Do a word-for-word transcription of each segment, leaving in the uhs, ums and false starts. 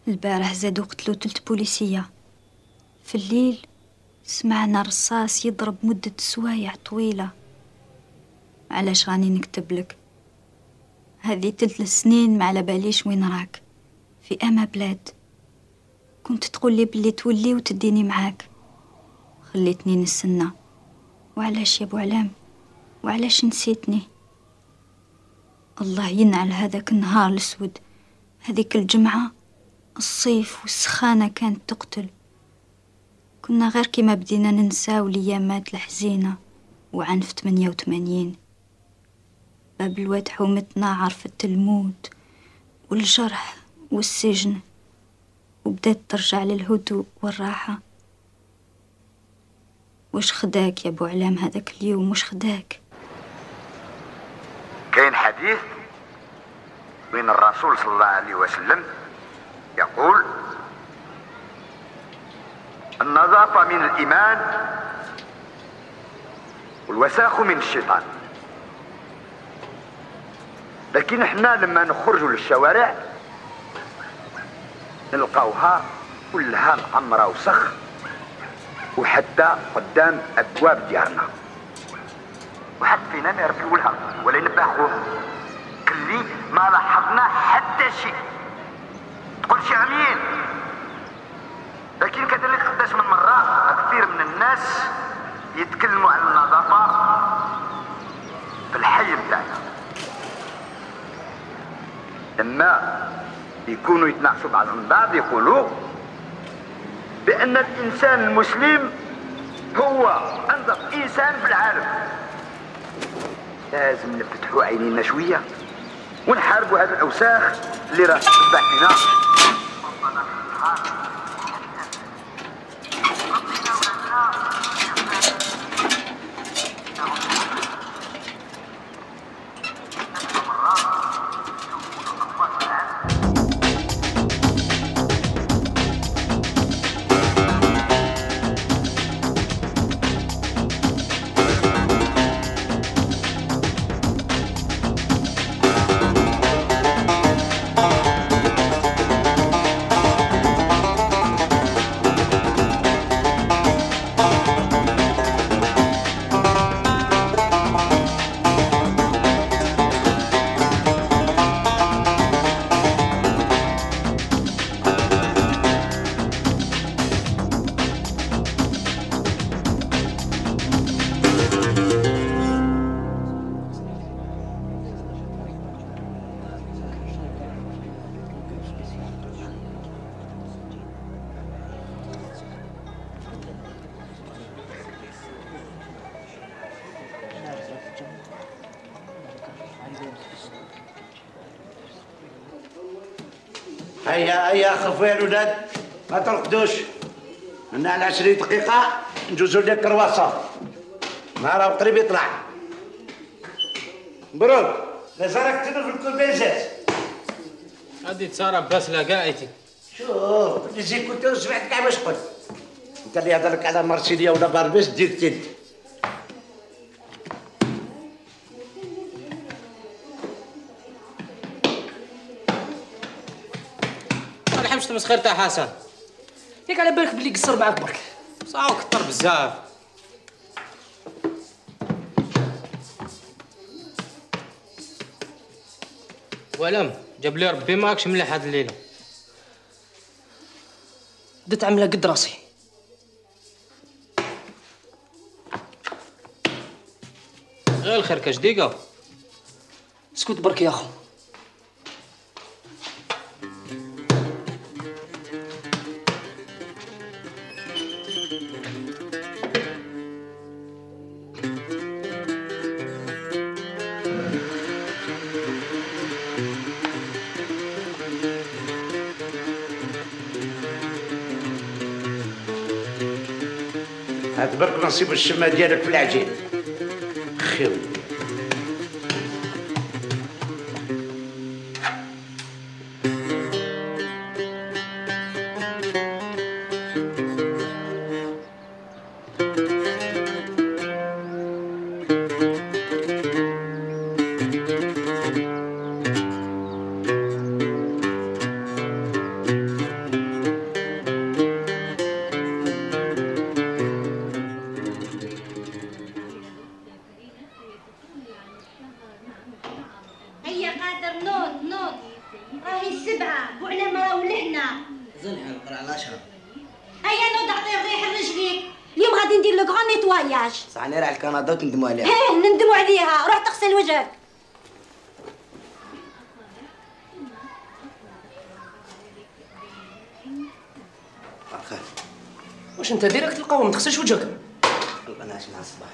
البارح زادوا قتلوا تلت بوليسية. في الليل سمعنا رصاص يضرب مدة سوايع طويلة. علاش راني نكتب لك؟ هذه تلت السنين ما على باليش وين راك، في أما بلاد. كنت تقول لي بلي تولي وتديني معاك، خليتني نستنى. وعلاش يا ابو علام؟ وعلاش نسيتني؟ الله ينعل هذاك النهار الاسود، هذيك الجمعة، الصيف والسخانة كانت تقتل. كنا غير كيما بدينا ننساو ليامات الحزينة وعنف ثمانية وثمانين. باب الواد حومتنا عرفت الموت والجرح والسجن، وبدات ترجع للهدوء والراحة. وش خداك يا ابو علام هذاك اليوم؟ وش خداك؟ كاين حديث بين الرسول صلى الله عليه وسلم يقول: النظافة من الإيمان والوساخ من الشيطان. لكن احنا لما نخرجوا للشوارع نلقاوها كلها معمرة وسخ، وحتى قدام أبواب ديارنا وحد فينا ما يربيو لها ولا ينبحوها. كلي ما لاحظنا حتى شيء. تقول شي عميل، لكن كذلك قداش من مرة كثير من الناس يتكلموا عن النظافة في الحي بتاعنا، لما يكونوا يتناقشوا بعضهم بعض يقولوا بأن الإنسان المسلم هو أنظف إنسان في العالم. لازم نفتحوا عينينا شوية ونحاربوا هذه الأوساخ اللي راه تتبع فينا. هيا هيا خفوا يا الولاد، ما ترقدوش. عندنا على عشرين دقيقة نجوزو لك كرواسون، ما راهو قريب يطلع. مبروك، لازم راك تنوض في الكل بيزاز. هادي تصارى بس لقايتي. شوف اللي زي كنت سمعت كاع واش قلت. انت اللي يهضر لك على مرسيليا ولا باربيس دير تنت. ما نحبش تمسخير تاع حسن. ياك على بالك بلي قصر معاك برك. صاو كثر بزاف. ولم جاب لي ربي ماكش مليح هاد الليله. بدات عامله قد راسي. غير الخير كاش دقيقه. اسكت برك يا اخو. هاد برك نصيب الشمه ديالك في العجين. خيو فواياج. صح انا رايح لكندا وتندموا عليها. ايه نندموا عليها، روح تغسل وجهك. خير. واش انت ديريكت تلقاو ما تغسلش وجهك؟ يلا نعس مع الصباح.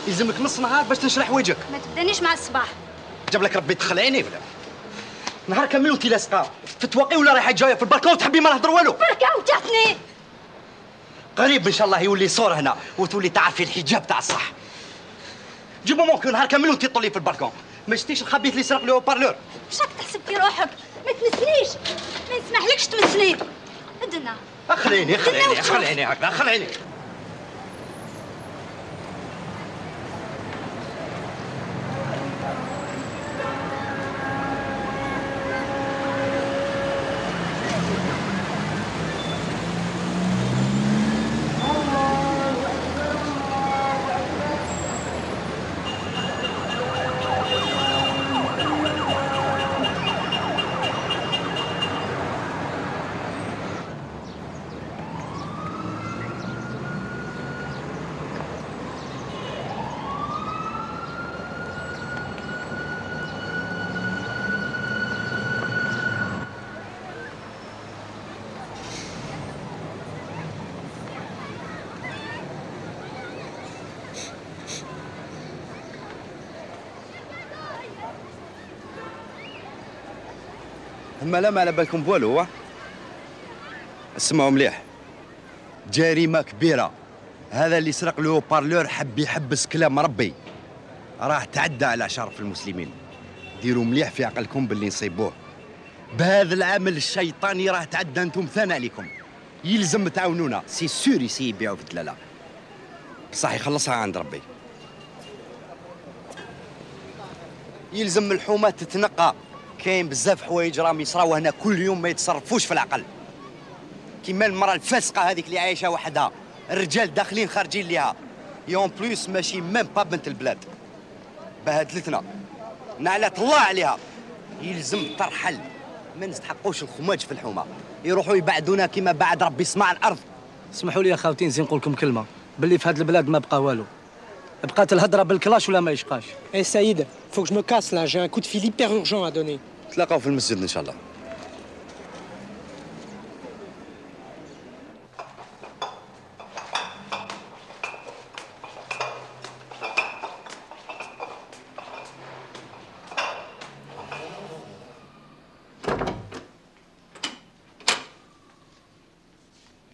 يلزمك نص نهار باش تنشرح وجهك. ما تبدانيش مع الصباح. جاب لك ربي تدخل عيني ولا نهار كامل وانتي لاصقه في التواقي ولا رايحه جايه في البالكون تحبي ما نهضر والو. بركه وتعتني. قريب ان شاء الله يولي صور هنا وتولي تعرفي الحجاب تاع الصح. جيبو ممكن نهار كامل وانتي تطلي في البالكون ما شتيش الخبيث اللي سرق له بارلور. واش راك تحسب في روحك؟ ما تمسنيش، ما نسمحلكش تمسني. ادنا خليني خليني خليني هكذا خليني. اما لا ما على بالكم بوالو. اسمعوا مليح، جريمه كبيره. هذا اللي سرق له بارلور حب يحبس كلام ربي، راه تعدى على شرف المسلمين. ديروا مليح في عقلكم باللي نصيبوه. بهذا العمل الشيطاني راه تعدى انتم ثاني عليكم. يلزم تعاونونا. سي سور يسي يبيعوا في الدلاله بصح يخلصها عند ربي. يلزم الحومه تتنقى. كاين بزاف حوايج راهم يصراو هنا كل يوم ما يتصرفوش في العقل، كيما المراه الفاسقه هذيك اللي عايشه وحدها، الرجال داخلين خارجين ليها، يون بلوس ماشي ميم با بنت البلاد. بهدلتنا نعلات الله عليها. يلزم ترحل، ما نستحقوش الخماج في الحومه، يروحوا يبعدونا كيما بعد ربي يسمع الارض. اسمحوا لي يا خاوتي نزيد نقول لكم كلمه، باللي في هذه البلاد ما بقى والو، بقات الهضره بالكلاش ولا ما يشقاش. Eh Saïd, faut que je me casse là, j'ai un coup de fil hyper urgent à donner. تلاقاو في المسجد ان شاء الله.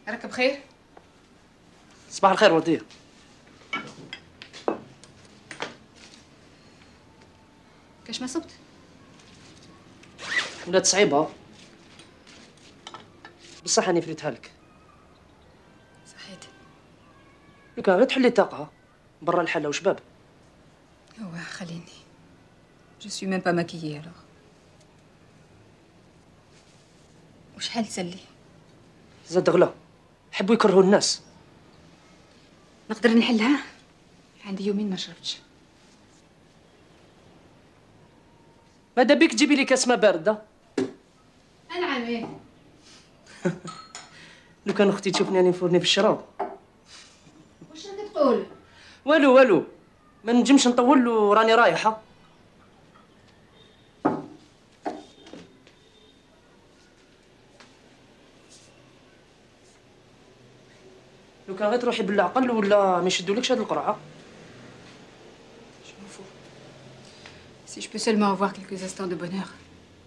راك بخير؟ صباح الخير وديه. كاش ما صبت؟ ولات صعيبه بصح راني فريتها لك. صحيت. لو كان غير تحلي طاقه برا الحله وشباب. هو خليني. جو سوي ميم با ماكيي الوغ. وشحال تسلي؟ زاد غلا، حبوا يكرهوا الناس. نقدر نحلها؟ عندي يومين ما شربتش. ماذا بيك تجيبي لي كاس ماء بارده؟ انا عامل. لو كان اختي تشوفني راني نفورني في الشراب. واش راك تقول؟ والو والو، ما نجمش نطول وراني رايحه. لو كان غير تروحي بالعقل ولا ما يشدولكش هاد القرعه. Je m'en fous. Si je peux seulement avoir quelques instants de bonheur,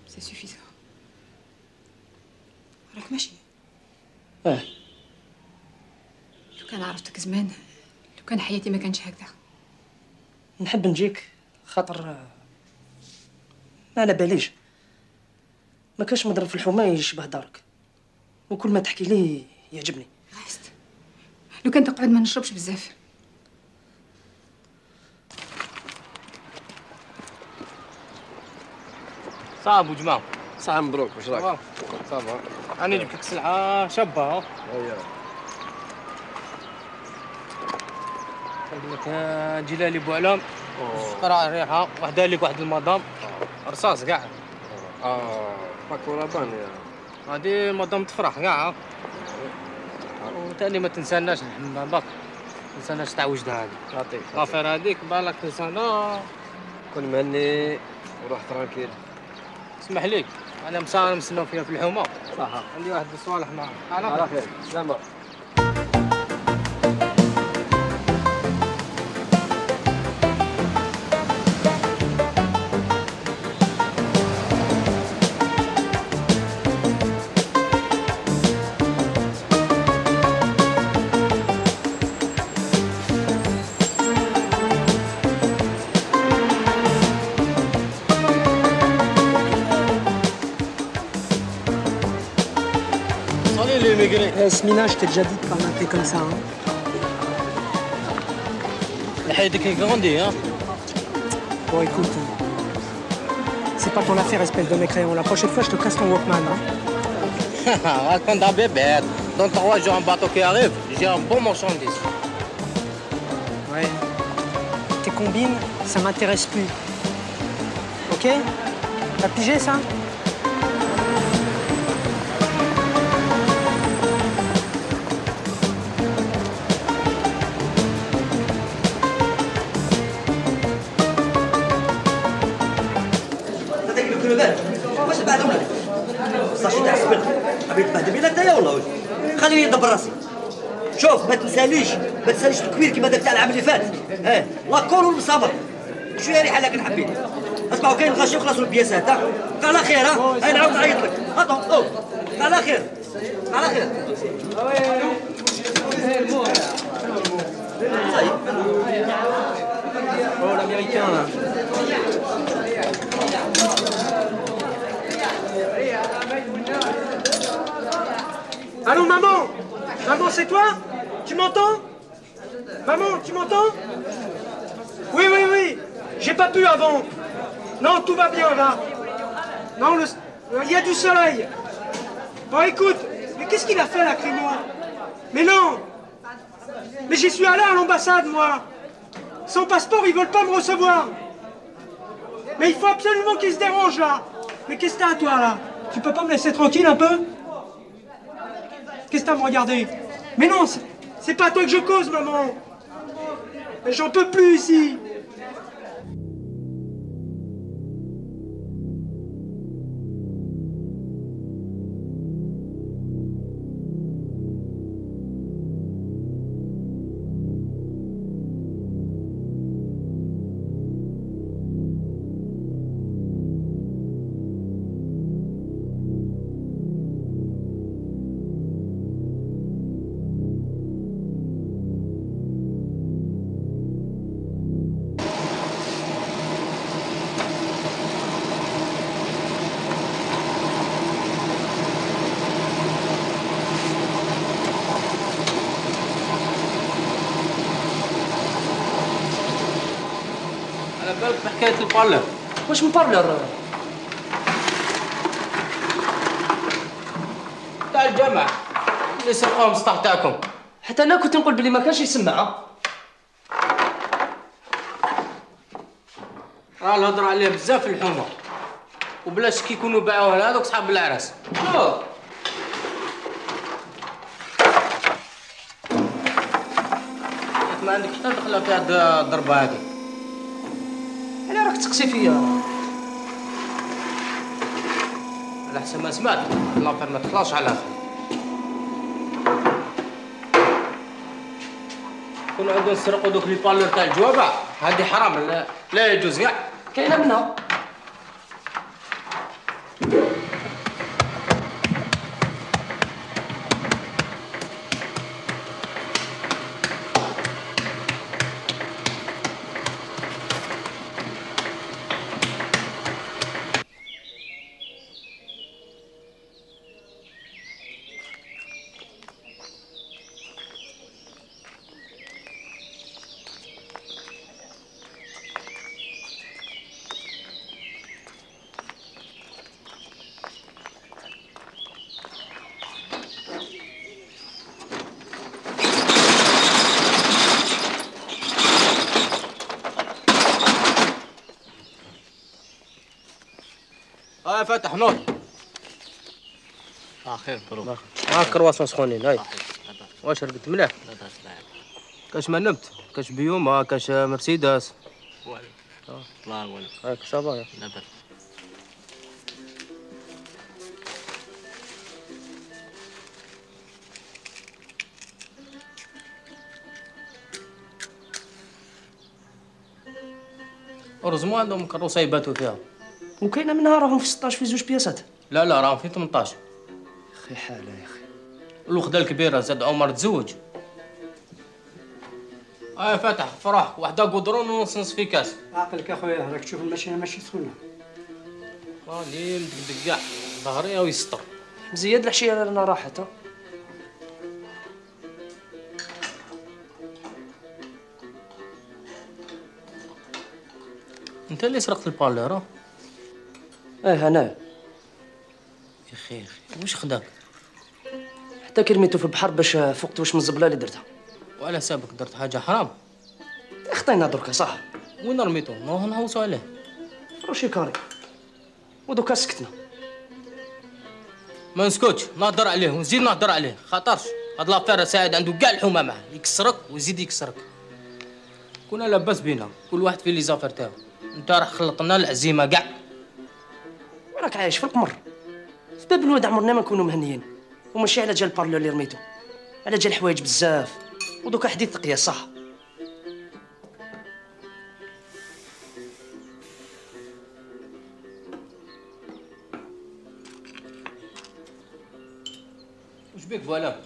c'est suffisant. راك ماشي. اه. لو كان عرفتك زمان، لو كان حياتي ما كانش هكذا. نحب نجيك خاطر ما على باليش، ما كاش مضرب في الحومه يشبه دارك، وكل ما تحكي ليه يعجبني. ريست. لو كان تقعد ما نشربش بزاف. صعب وجماعة. صح مبروك، واش راك؟ صافا. انا جبت لك سلعة شابة. ها. اييه. قلت لك جلالي بوعلام. قرع ريحة، وحده لك واحد المدام. رصاص كاع. اه باكورة بانية. هادي مدام تفرح كاع. وتاني ما تنساناش محمد باك. ما تنساناش تاع وجدها هادي. يعطيك. لافير هاديك بالك تنسانا. كون مهني وروح ترانكيل. اسمح ليك انا مسا نستناو فيها في الحومه. صح. عندي واحد الصوالح معاه. على خير. سلامة. Eh, Smina, je t'ai déjà dit de pas m'appeler comme ça. Hein. لحيتك grandi, hein. Bon, écoute, c'est pas ton affaire, espèce de mécréant. La prochaine fois, je te casse ton Walkman. Hein. Raconte un bébé. Dans trois jours, un bateau qui arrive, j'ai un bon marchandise. Ouais. Tes combines, ça m'intéresse plus. Ok? T'as pigé ça? واش بعد ولا صاشي تاع السبت حبيت تبهدل بينا نتايا والله وش خليني ندبر راسي. شوف ما تنساليش ما تنساليش التكوير كيما داك تاع العام اللي فات. اه لاكول والمصابر شويه ريحه لكن حبيت. اسمعوا كاين الغاشي وخلصوا البياسات. ها على خير. ها هاي نعاود نعيط لك. اطو على خير على خير. صايب Oh, l'américain là. Allô, maman? Maman, c'est toi? Tu m'entends? Maman, tu m'entends? Oui, oui, oui. J'ai pas pu avant. Non, tout va bien là. Non, le... il y a du soleil. Bon, écoute, mais qu'est-ce qu'il a fait là, Crémo? Mais non! Mais j'y suis allé à l'ambassade, moi. Sans passeport, ils veulent pas me recevoir. Mais il faut absolument qu'ils se dérangent là. Mais qu'est-ce que t'as toi là? Tu peux pas me laisser tranquille un peu? Qu'est-ce que t'as à me regarder? Mais non, c'est pas à toi que je cause, maman. Mais j'en peux plus ici. بالك بحكاية البارلر. واش من بارلر؟ تاع الجامع اللي سرقوهم السطح تاعكم. حتى انا كنت نقول بلي ما كانش يسمع. راه الهضره عليه بزاف في الحومه وبلاش كي يكونوا باعوه لهذوك صحاب العراس. اوه ما عندك حتى دخله في هاد الضربه هادي. علاه راك تقسي فيا؟ على حسب ما سمعت لافير ما تخلاصش على الاخر. كون عندهم يسرقوا دوك لي بالور تاع الجوابع هادي حرام لا, لا يجوز كاع. كاينه منها. فاتح نور. اه خير مبروك. ها كرواسون سخونين هاي. واش رقدت مليح؟ كاش ما نمت؟ كاش بيوما كاش مرسيدس؟ والو. الله والو. هاك صافا. لاباس. أرزمو عندهم كروسة يباتوا فيها. وكاينه منها راهم في ستطاش في زوج بياسات. لا لا راهم في ثمنطاش. اخي حاله يا اخي. الوخده الكبيره زاد عمر تزوج. اه فاتح فرح وحده قدرون ونص نص في كاس. عقلك اخويا راك تشوف الماشينه ماشي سخونه. راني مدقدق كاع ظهري ويسطر. مزياد العشيه رانا راحت. انت اللي سرقت البالير ها؟ اه انا. يا اخي يا اخي واش خداك؟ حتى كي رميتو في البحر باش فقت واش من الزبله اللي درتها. وعلى سابك درت حاجه حرام؟ خطينا دركا صح. وين رميتو؟ نروح نحوسو عليه. روشي كاري. ودوكا سكتنا. ما نسكتش نهضر عليه ونزيد نهضر عليه خاطرش هاد لافير سعيد عنده كاع الحومه معاه يكسرك ويزيد يكسرك. كنا لاباس بينا كل واحد في لي زافير تاعو. انت راح خلطنا العزيمه كاع. راك عايش في القمر. في باب الواد عمرنا ما نكونوا مهنيين وماشي على جال البارلو اللي رميتو، على جال الحوايج بزاف ودوكا حديث قياس صح. واش بيك فوالا؟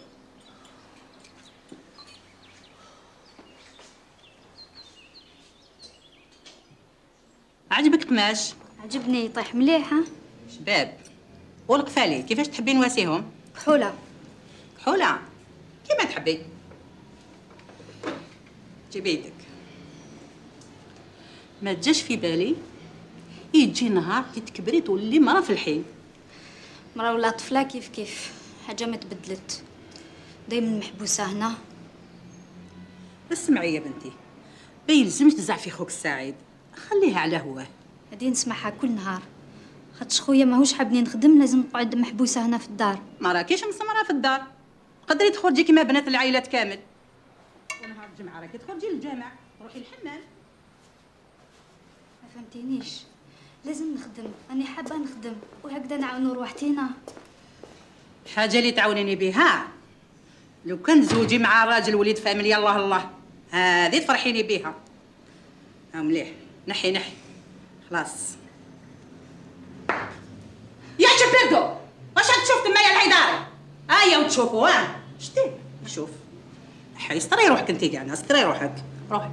عجبك تماش؟ عجبني يطيح مليح. ها شباب والقفالي كيفاش تحبي نواسيهم؟ كحولة. كحولة كيما تحبي. جيبي يدك. ما تجاش في بالي يجي نهار كي تكبري تولي مرا في الحين. مرا ولا طفلة كيف كيف حاجة ما تبدلت. دايما محبوسة هنا. اسمعي يا بنتي ما يلزمش تزعفي خوك السعيد، خليها على هواه. هادي نسمعها كل نهار خاطش خويا ماهوش حابني نخدم لازم نقعد محبوسه هنا في الدار. ما راكيش مسمره في الدار، تقدري تخرجي كيما بنات العائلات كامل. ونهار الجمعه راكي تخرجي للجامع روحي الحمام. ما فهمتينيش لازم نخدم، راني حابه نخدم وهكذا نعاونوا روحتينا. الحاجه اللي تعاونيني بها لو كان تزوجي مع راجل وليد فاميليا الله الله هذه تفرحيني بها. ها مليح نحي نحي خلاص. يا شبردو واش راك تشوف تما يا العيداري؟ هيا وتشوفوا ها شتي شوف حي استري روحك انت كاع استري روحك روحي.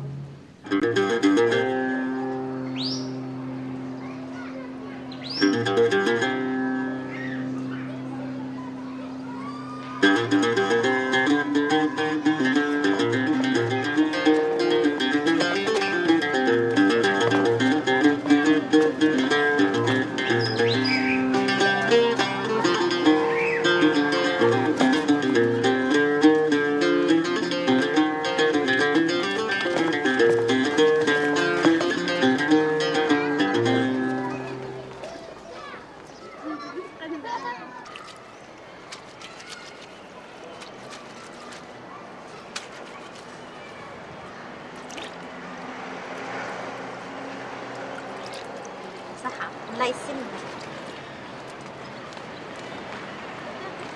صحة الله يسلمك.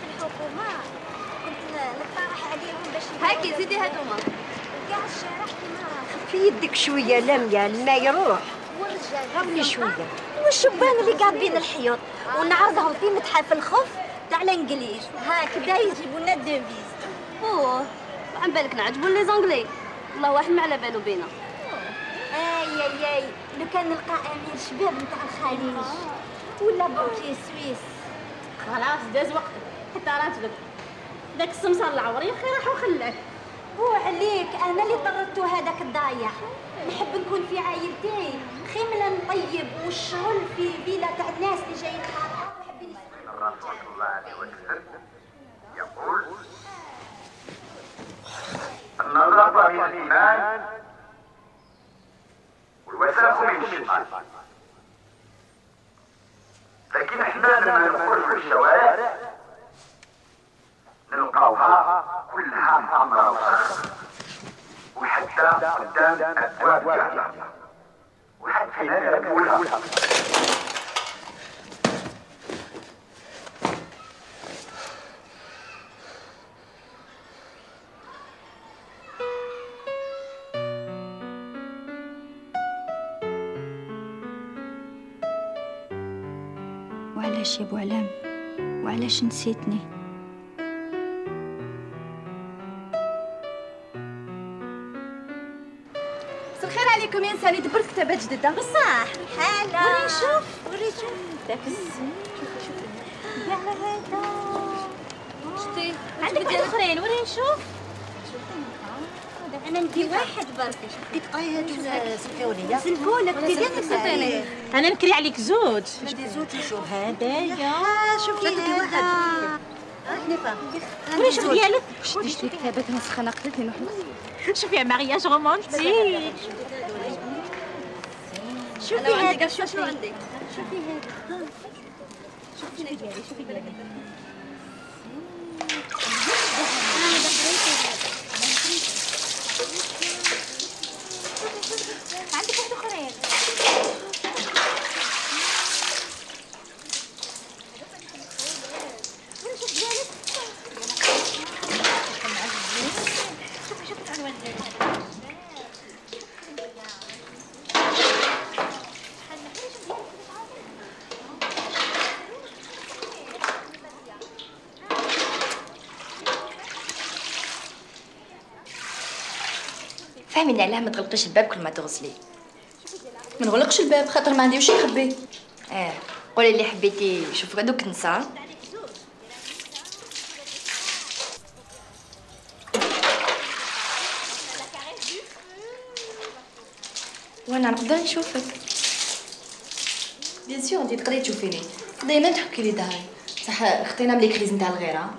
في الحكومة كنت نقترح عليهم باش هاكي زيدي هادوما كاع الشارع كيما في يدك شوية لميا الماء يروح والرجال غير شوية والشبان اللي قاعدين الحيوط ونعرضهم في متحف الخف تاع الانجليز هكذا يجيبوا لنا الديفيز. اوه عن بالك نعجبوا لي زونغلي الله واحد ما على بالو بينا. اي اي اي لو كان نلقى امير شباب نتاع الخليج ولا بنكي سويس. خلاص داز وقتك حتى راجلك داك السمسار العور يا اخي راح وخلاك. هو عليك انا اللي طردتو هذاك الضايع. نحب نكون في عائلتي خيمله نطيب والشغل في فيلا تاع الناس اللي جايين خاطر وحابين الرسول صلى الله عليه وسلم يقول النظافة من الإيمان والوساخ من الشيطان. لكن لقاوها كلها معمرة وسخ، وحتى قدام أبواب جارية، وحد فينا يركبولها. وعلاش يا بوعلام؟ وعلاش نسيتني؟ مساء الخير عليكم يا نساني، دبرت كتابات جديدة بصح. حالا وريني نشوف وريني شوف داك الزين. شوفي شوفي كاع هذا شتي عندك واحد اخرين وريني نشوف. انا ندي واحد برك ديك قرايه هذوك سلفونيه سلفونك دي ديالك سلطيني. انا نكري عليك زوج. ندي زوج شوف هذايا شوفي هذا حنيفه وريني شوف ديالك. شتي شتي كتابات مسخنه قتلتني نروح شوفي يا مارياج رومانتيك. شوفي هذا شوفي عندي شوفي هذا شوفي ديالي شوفي ديالي عندك واحد اخرين. شوفي ديالك شوفي شوفي العنوان ديالك. فهميني علاه ما تغلقيش الباب كل ما تغسلي. ما نغلقش الباب خاطر ما عندي واش نخبي. اه قولي اللي حبيتي. شوفي دوك نسى. وانا نقدر نشوفك بيان سور. انتي تقدري تشوفيني دايما تحكي لي داري صح. خطينا ملي كريز نتاع الغيره.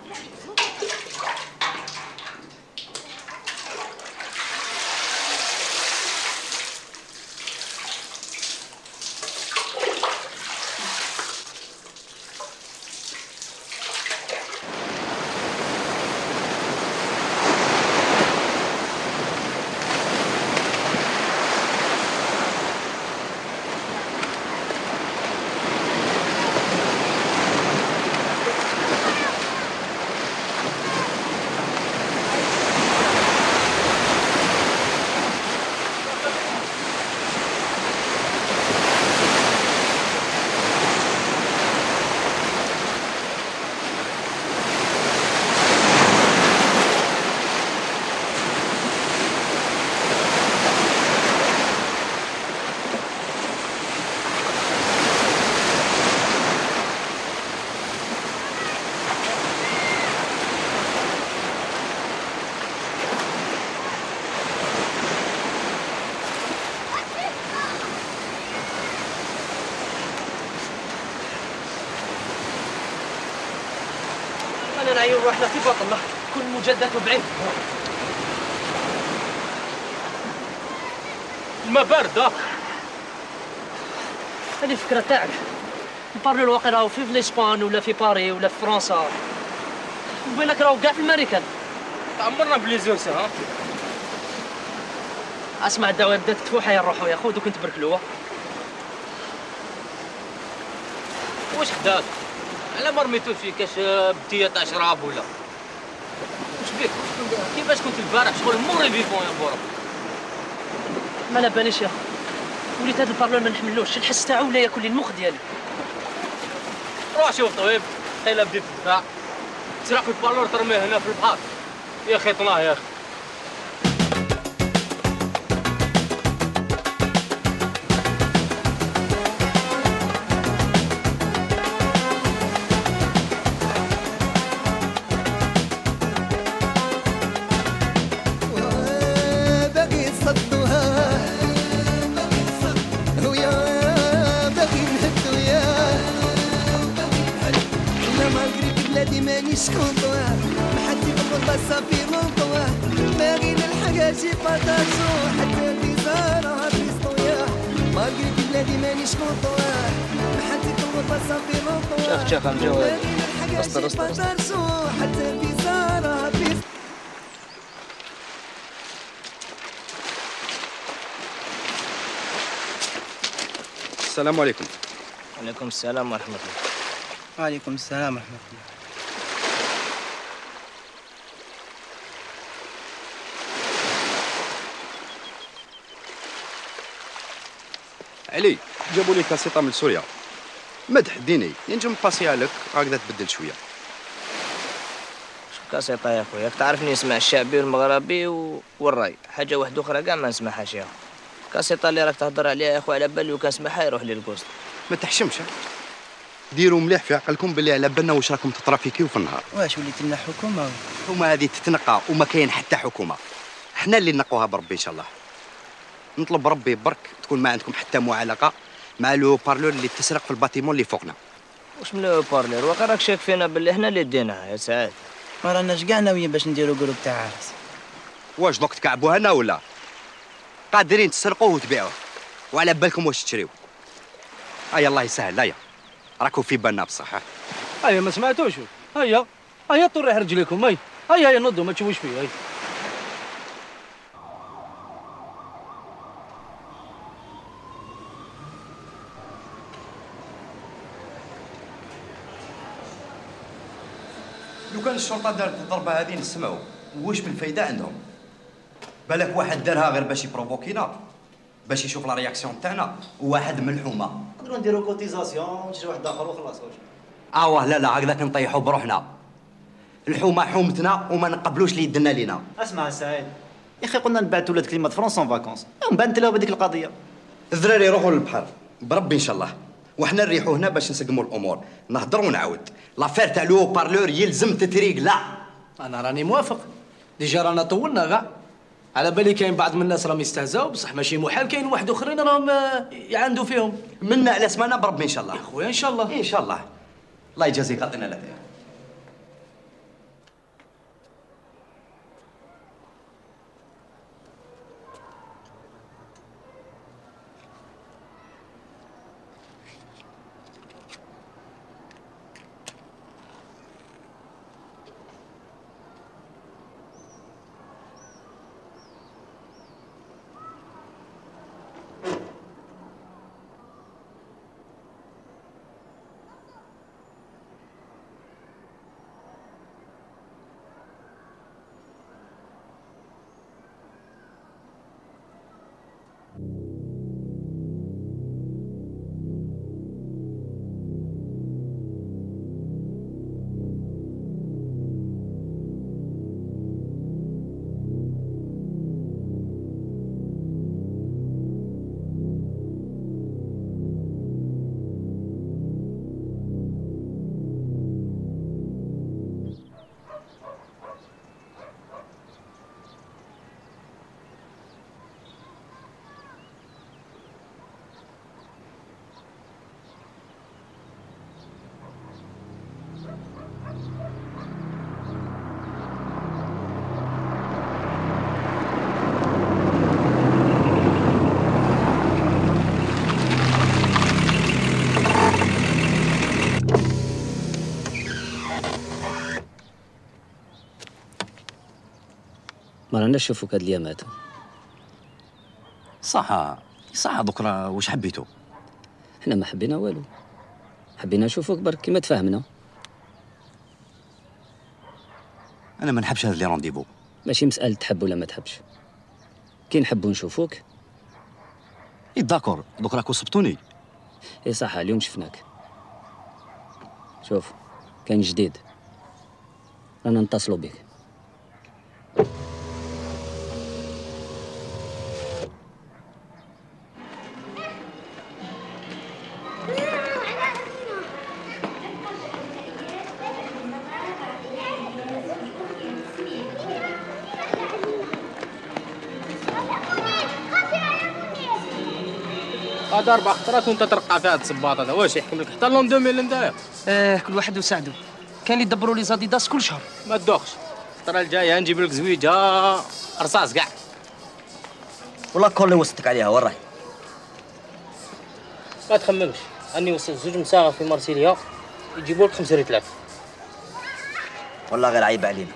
انا نعيون روحنا في بطننا كل مجدد وبعيد. الماء بارد. هذه الفكره تاعك. نبارلو الواقع راهو في الاسبان ولا في باري ولا في فرنسا، وبينك راهو كاع في الامريكان. تعمرنا بليزوسه. ها اسمع الدواء بدات تفوح يا نروحو يا خو دوك نتبركلوها. واش خدات؟ على ما رميتو فيه كاش بتيه تاع شراب ولا واش بيك؟ كيفاش كنت البارح شغل موري فيفون يا بورا. ما لا باليش يا وليت هذا البارلون ما نحملوش. الحس تاعو ولا ياكل لي المخ ديالي. روح شوف طبيب خيلا بدي في الدفاع تسرق في البارلور ترميه هنا في البحر. يا اخي طناه يا اخي. مانيش كونطوار محدي بالغربة صافي لونطوار باغي نلحق شي بارطاجو حتى بيزارها بيسطويا مالغري في بلادي مانيش كونطوار محدي بالغربة صافي لونطوار شاف شاف عم جواد. باغي نلحق شي بارطاجو حتى بيزارها السلام عليكم. وعليكم السلام ورحمة الله. وعليكم السلام ورحمة الله. علي جابوا لي كاسيطه من سوريا. مدح ديني ينجم نباسيها لك هكذا تبدل شويه. شو كاسيطة يا خويا؟ تعرفني نسمع الشعبي والمغربي و... والراي، حاجة واحدة أخرى كاع ما نسمعهاش يا كاسيطة اللي راك تهضر عليها يا خويا على بالي لو كان سمعها يروح لي الكوست. ما تحشمش، ديروا مليح في عقلكم باللي على بالنا واش راكم تترافيكيو في النهار. واش وليت لنا حكومة؟ الحكومة هذه تتنقى وما كاين حتى حكومة، حنا اللي نقوها بربي إن شاء الله. نطلب ربي برك تكون ما عندكم حتى معالقة مع لو بارلور اللي تسرق في الباتيمون اللي فوقنا. واش من لو بارلور؟ واقع راك شاك فينا باللي حنا اللي ديناها يا سعاد. ما راناش كاع ناويين باش نديروا جروب تاع عرس. واش دوك تكعبوا هنا ولا قادرين تسرقوه وتبيعوه وعلى بالكم واش تشريو؟ هيا الله يسهل. هيا راكم في بالنا بصح. هيا ما سمعتوش؟ هيا هيا طريح رجليكم. هيا هيا هيا نضوا ما تشوفوش فيه. هيا لو كان الشرطه دارت الضربه هذه نسمعوا واش من فايده عندهم؟ بالك واحد دارها غير باش يبروفوكينا، باش يشوف لا رياكسيون تاعنا، وواحد من الحومه. نقدروا نديروا كوتيزاسيون ونشري واحد اخر وخلاص. واش اه لا لا هكذاك نطيحوا بروحنا. الحومه حومتنا وما نقبلوش اللي يدنا لينا. اسمع سعيد يا اخي، قلنا نبعثوا ولاد كلمه فرنسا اون فاكونس ومن بعد نتلاو بهذيك القضيه. الذراري يروحوا للبحر بربي ان شاء الله، وحنا نريحوا هنا باش نسقموا الامور. نهضر ونعاود، لافير تاع لو بارلور يلزم تتريق. لا انا راني موافق، ديجا رانا طولنا كاع. على بالي كاين بعض من الناس راهم يستهزاو، بصح ماشي محال كاين واحد اخرين راهم يعندوا فيهم. منا على سمانه بربي ان شاء الله. يا خويا ان شاء الله ان شاء الله. الله يجازيك عطينا لك. ما راناش نشوفوك هاد اليامات. صح صح دوك راه واش حبيتو؟ حنا ما حبينا والو، حبينا نشوفوك برك كيما تفاهمنا. انا ما نحبش هاد لي رونديفو. ماشي مسألة تحب ولا ما تحبش، كي نحبو نشوفوك. اي داكور دوك راكو صبتوني. اي صح اليوم شفناك. شوف كاين جديد، رانا نتصلوا بك. هذا اربع خطرات وانت ترقع في هذا الصباط هذا. واش يحكم لك حتى لون ألفين انت؟ اه كل واحد وساعدو، كان يدبروا لي زاديداس كل شهر. ما تدوخش، الخطره الجايه نجيب لك زويجه رصاص كاع. والله كل اللي وصلتك عليها وين راهي؟ ما تخممش، اني وصلت زوج مساغه في مرسيليا يجيبوا لك خمسة ريتلاف. والله غير عيب علينا.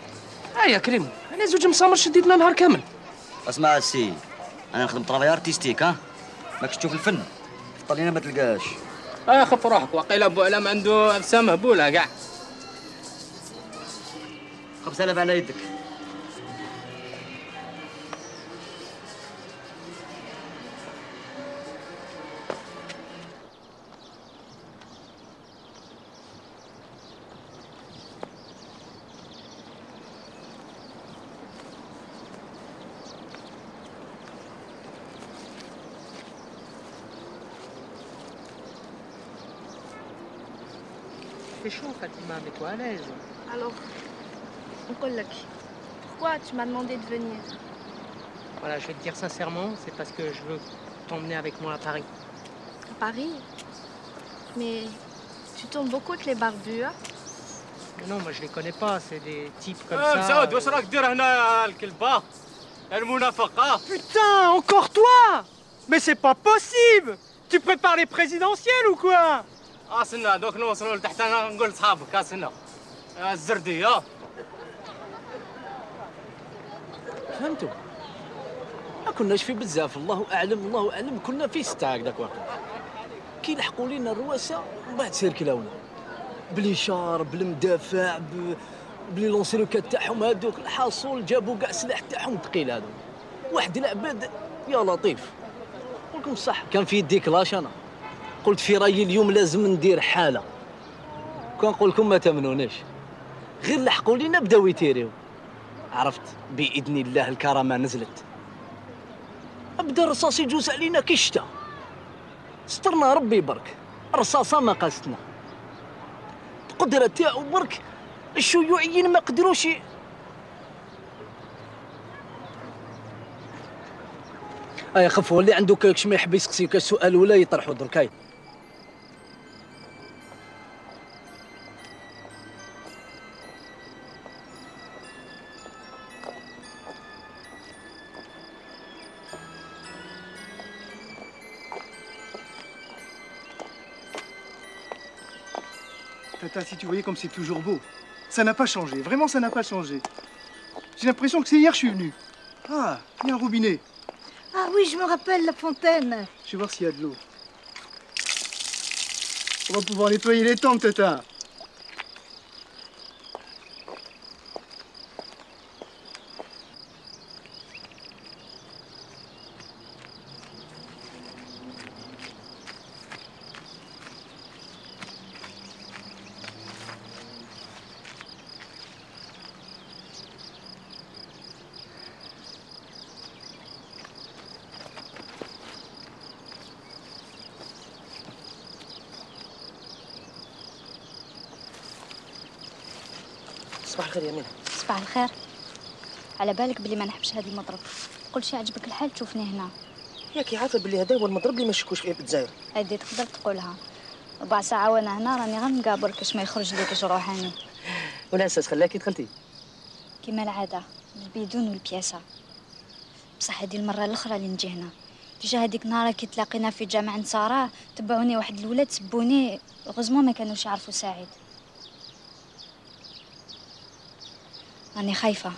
اه يا كريم انا زوج مسامر شديتنا نهار كامل. اسمع السي، انا نخدم طرافاي ارتيستيك ها، ماكش تشوف الفن. طلينا ما تلقاش. اه خف روحك، وقيل ابو علام عنده ابسام مهبوله كاع. خمسة آلاف على يدك. C'est chaud, Fatima, mais toi à l'aise. Alors, Nkolak, pourquoi tu m'as demandé de venir? Voilà, je vais te dire sincèrement, c'est parce que je veux t'emmener avec moi à Paris. À Paris? Mais tu tournes beaucoup avec les barbus, hein? Mais non, moi je les connais pas, c'est des types comme آه ça. مسعود واش راك دير هنا الكلبه المنافقه؟ Putain, encore toi? Mais c'est pas possible! Tu prépares les présidentielles ou quoi? اه سنة دوك نوصلوا لتحت انا نقول لصحابك اه سنة آه الزردية. فهمتوا؟ ما كناش في بزاف، الله اعلم الله اعلم، كنا في ستة هكذاك واقع. كي لحقوا لينا الرواسه ومن بعد سيركلاونا بالاشار بالمدافع ب... بلي لونسيروكات تاعهم هذوك، الحاصل جابوا كاع السلاح تاعهم ثقيل هذوك. واحد العباد يا لطيف، نقول لكم صح كان في يدي كلاش. انا قلت في رايي اليوم لازم ندير حاله، كنقول لكم ما تامنونيش. غير لحقوا لينا بداو يتيريو، عرفت باذن الله الكرامه نزلت، بدا الرصاص يجوز علينا كي الشتا، سترنا ربي برك، الرصاصه ما قاستنا، القدره تاعو برك الشيوعيين ما قدروش. اي خفوا اللي عنده كاش ما يحب يسقسيك السؤال ولا يطرحوا درك. هاي Tata, si tu voyais comme c'est toujours beau. Ça n'a pas changé, vraiment ça n'a pas changé. J'ai l'impression que c'est hier que je suis venu. Ah, il y a un robinet. Ah oui, je me rappelle la fontaine. Je vais voir s'il y a de l'eau. On va pouvoir nettoyer les tempes, Tata. صباح الخير يا مينا. صباح الخير. على بالك بلي ما نحبش هذا المضرب، قول شي عجبك الحال تشوفني هنا. ياك عارفه بلي هذا هو المضرب اللي ما نشكوش فيه بالجزائر. هادي تقدر تقولها، ربع ساعة وانا هنا راني غير نقابر كاش ما يخرج لي كاش روحاني. ولا اساس خلاكي دخلتي؟ كيما العادة البيدون والبياسة. بصح هادي المرة الأخرى اللي نجي هنا. ديجا هذيك النهار كي تلاقينا في جامع نصارى تبعوني واحد الولاد سبوني، غزمو ما كانوش يعرفوا سعيد. راني خايفة.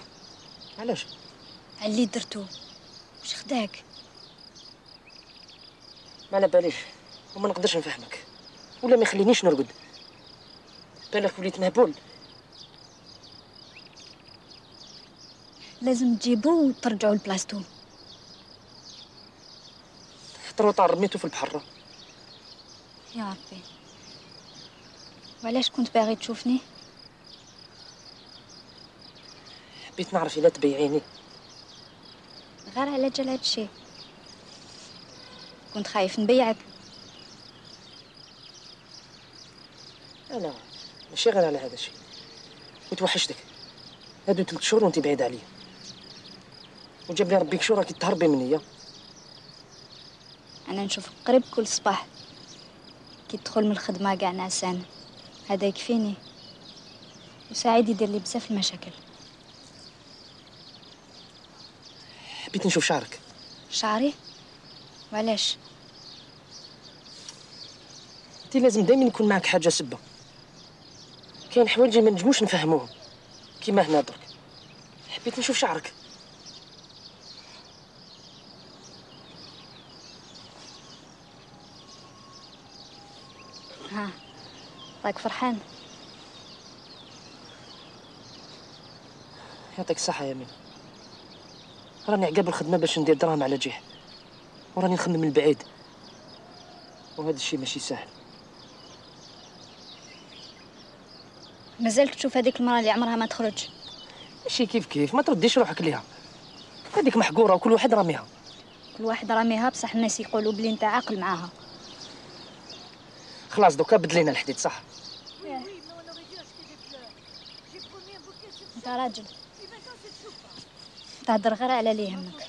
علاش؟ على اللي درتو. واش خداك؟ ما على باليش وما نقدرش نفهمك ولا ما يخلينيش نرقد. بالك وليت مهبول. لازم تجيبوه وترجعوا لبلاصتو. حتى الروطار رميتو في البحر. يا ربي، وعلاش كنت باغي تشوفني؟ حبيت نعرف إلا تبيعيني. غير على جال هادشي كنت خايف نبيعك. انا ماشي غير على هذا الشيء، وتوحشتك هادو ثلاث شهور وانت بعيد عليا، وجاب لي ربي كشور راكي تهربي مني. انا نشوفك قريب كل صباح كي تدخل من الخدمه كاع نعسان، هذا يكفيني. وسعيد يدير لي بزاف المشاكل. حبيت نشوف شعرك. شعري؟ وعلاش؟ انت لازم دايما يكون معك حاجه سبه. كاين حوايج ما نجموش نفهموهم كيما هنا درك. حبيت نشوف شعرك. ها راك فرحان؟ يعطيك الصحة يا مين. راني عقاب الخدمة باش ندير دراهم على جيه، وراني نخمم من بعيد، وهذا الشيء ماشي سهل. مازالك تشوف هذيك المرأة اللي عمرها ما تخرج؟ ماشي كيف كيف، ما ترديش روحك ليها. هذيك محقورة وكل واحد راميها. كل واحد راميها، بصح الناس يقولوا بلي انت عاقل معاها. خلاص دوكا بدلينا الحديد صح؟ انت راجل تهدر غير على اللي يهمك.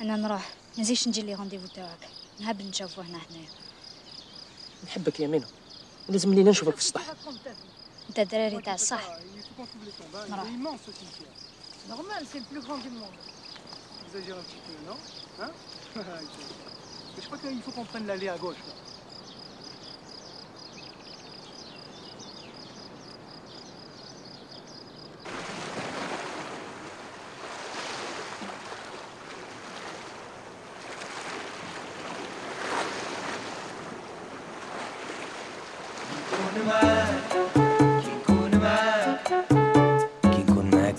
انا نروح، ما نزيدش نجي لي رونديفو تاعك، نهبل نشوفو هنا هنايا. نحبك يا مينو، ولازم لينا نشوفك في السطح. انت دراري تاع الصح. نروح. Normal, c'est le plus grand du monde. Exagère un petit peu, non? Hein? Je crois qu'il faut qu'on prenne l'allée à gauche. Là.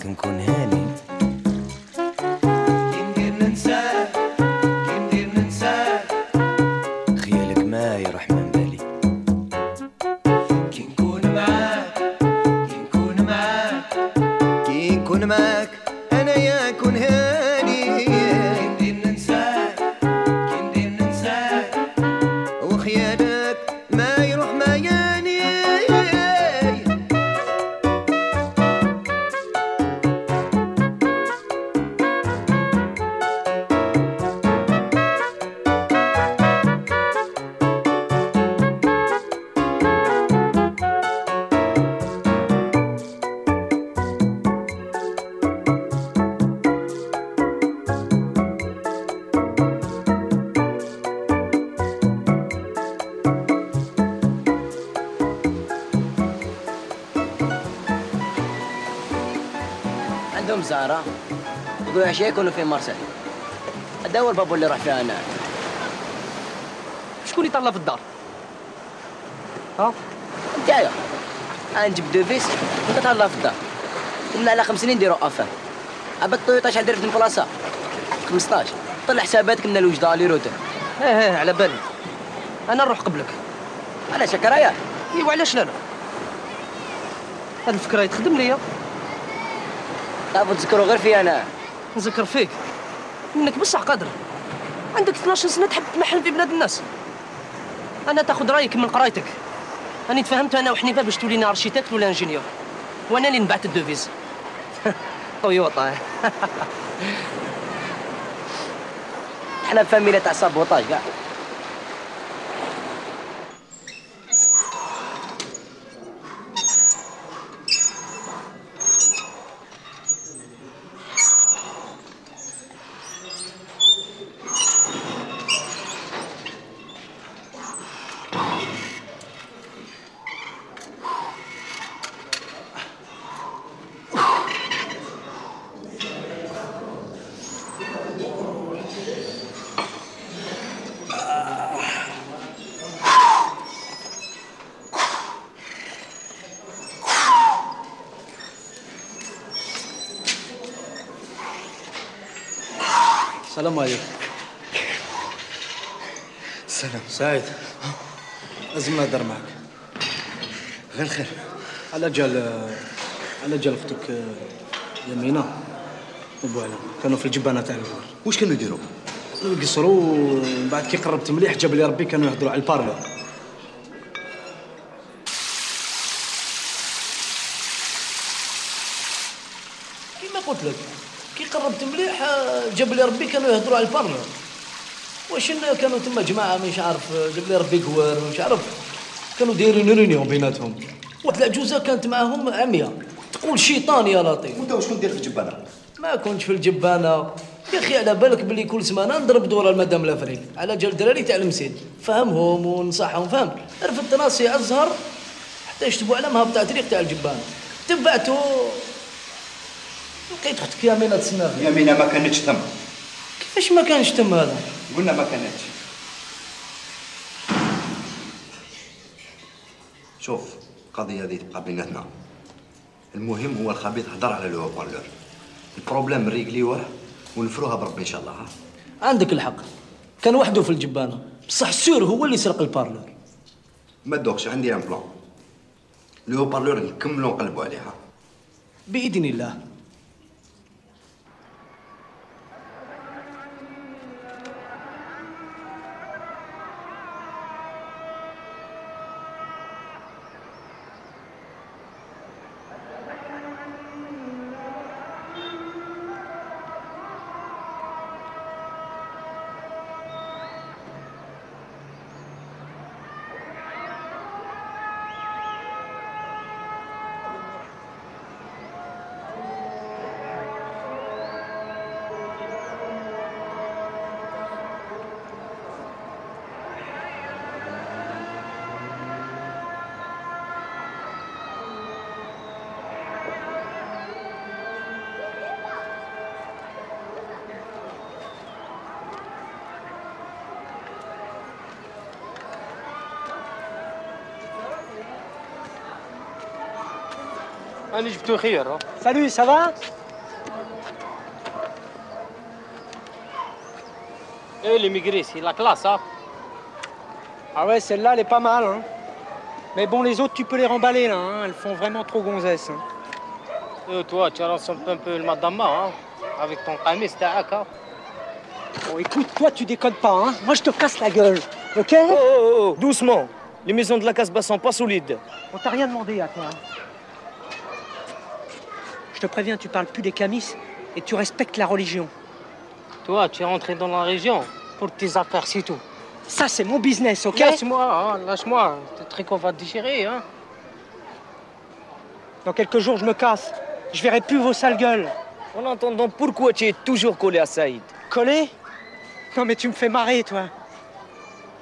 نكون هاني كي ندير ننساك كي ندير ننساك خيالك ما يروح من بالي كي نكون معاك كي نكون معاك كي نكون معاك انا يا كون هاني كي ندير ننساك كي ندير ننساك وخيالك ما يروح ما ياني عندهم زهرة يقولوا عشية يكونوا في مرسل. هذا هو الباب اللي راح فيها انا. شكون اللي طلع في الدار؟ ها؟ نتايا. انا نجيب دوفيس وانت تهلا في الدار. ومن على خمس سنين نديرو افان. عباد الطويطة شحال داير في البلاصة؟ خمسطاش. طلع حساباتك من الوجدة لي روتر. ايه ايه على بالي. انا نروح قبلك. علاش هكا رايح؟ ايوا علاش لا لا؟ هاد الفكرة تخدم ليا. تعرفوا تذكروا غير فيا انا. نذكر فيك انك بصح قادر. عندك اثناش سنه تحب تمحل في بلاد الناس. انا تاخذ رايك من قرايتك. راني تفاهمت انا وحنيفه باش تولينا ارشيتكت ولا انجينيور، وانا اللي نبعت الدوفيز. طيوطه. احنا فاميليا تاع سابوطاج كاع. السلام عليكم. السلام. سعيد لازم نهضر معك. غير خير. على جال على جال اختك يمينة وبوعلا كانوا في الجبانة تاع الجوار. واش كانوا يديروا؟ يقصروا ومن بعد كي قربت مليح جاب لي ربي كانوا يهضروا على البارلور. كيما قلت لك كي قربت مليح جاب لي ربي كانوا يهضروا على البارلور. واش كانوا تما جماعه مش عارف جاب لي ربي كوار مش عارف كانوا دايرين ريونيون بيناتهم. واحد العجوزه كانت معاهم عمية تقول شيطان يا لطيف. وانت واش كنت داير في الجبانه؟ ما كنتش في الجبانه يا اخي، على بالك بلي كل سمانه نضرب دوره المدام لافريل على جال دراري تاع المسيد، فهمهم ونصحهم فهمت. رفدت راسي ازهر حتى يشتبوا على مهبط طريق تاع الجبانه. تبعتو لقيت اختك يمينة تسنى فيا. يمينة ما كانتش تم. كيفاش ما كانش تم هذا؟ قلنا ما كانتش. شوف القضيه هذه تبقى بيناتنا. المهم هو الخبيث هضر على لو بارلور. البروبليم ريغليوه ونفروها بربي ان شاء الله. ها عندك الحق، كان وحده في الجبانه، بصح سور هو اللي سرق البارلور. ما دوكش عندي ان بلان. لو بارلور نكملوا نقلبوا عليها باذن الله. أنا جبتو خير. Salut, ça va? Eh, l'immigré, c'est la classe, hein? Ah ouais, celle-là, elle est pas mal, hein. Mais bon, les autres, tu peux les remballer, là, hein. Elles font vraiment trop gonzesse. Hein. Et toi, tu ressembles un peu le madame, hein? Avec ton camis, t'as hein? Bon, écoute, toi, tu déconnes pas, hein. Moi, je te casse la gueule, ok? Oh, oh, oh, doucement. Les maisons de la Casbah sont pas solides. On t'a rien demandé à toi. Hein. Je te préviens, tu parles plus des camis et tu respectes la religion. Toi, tu es rentré dans la région pour tes affaires, c'est tout. Ça, c'est mon business, ok? Lâche-moi, hein, lâche-moi. Tes trucs, on va te déchirer, hein. Dans quelques jours, je me casse. Je verrai plus vos sales gueules. En attendant, pourquoi tu es toujours collé à Saïd? Collé? Non, mais tu me fais marrer, toi.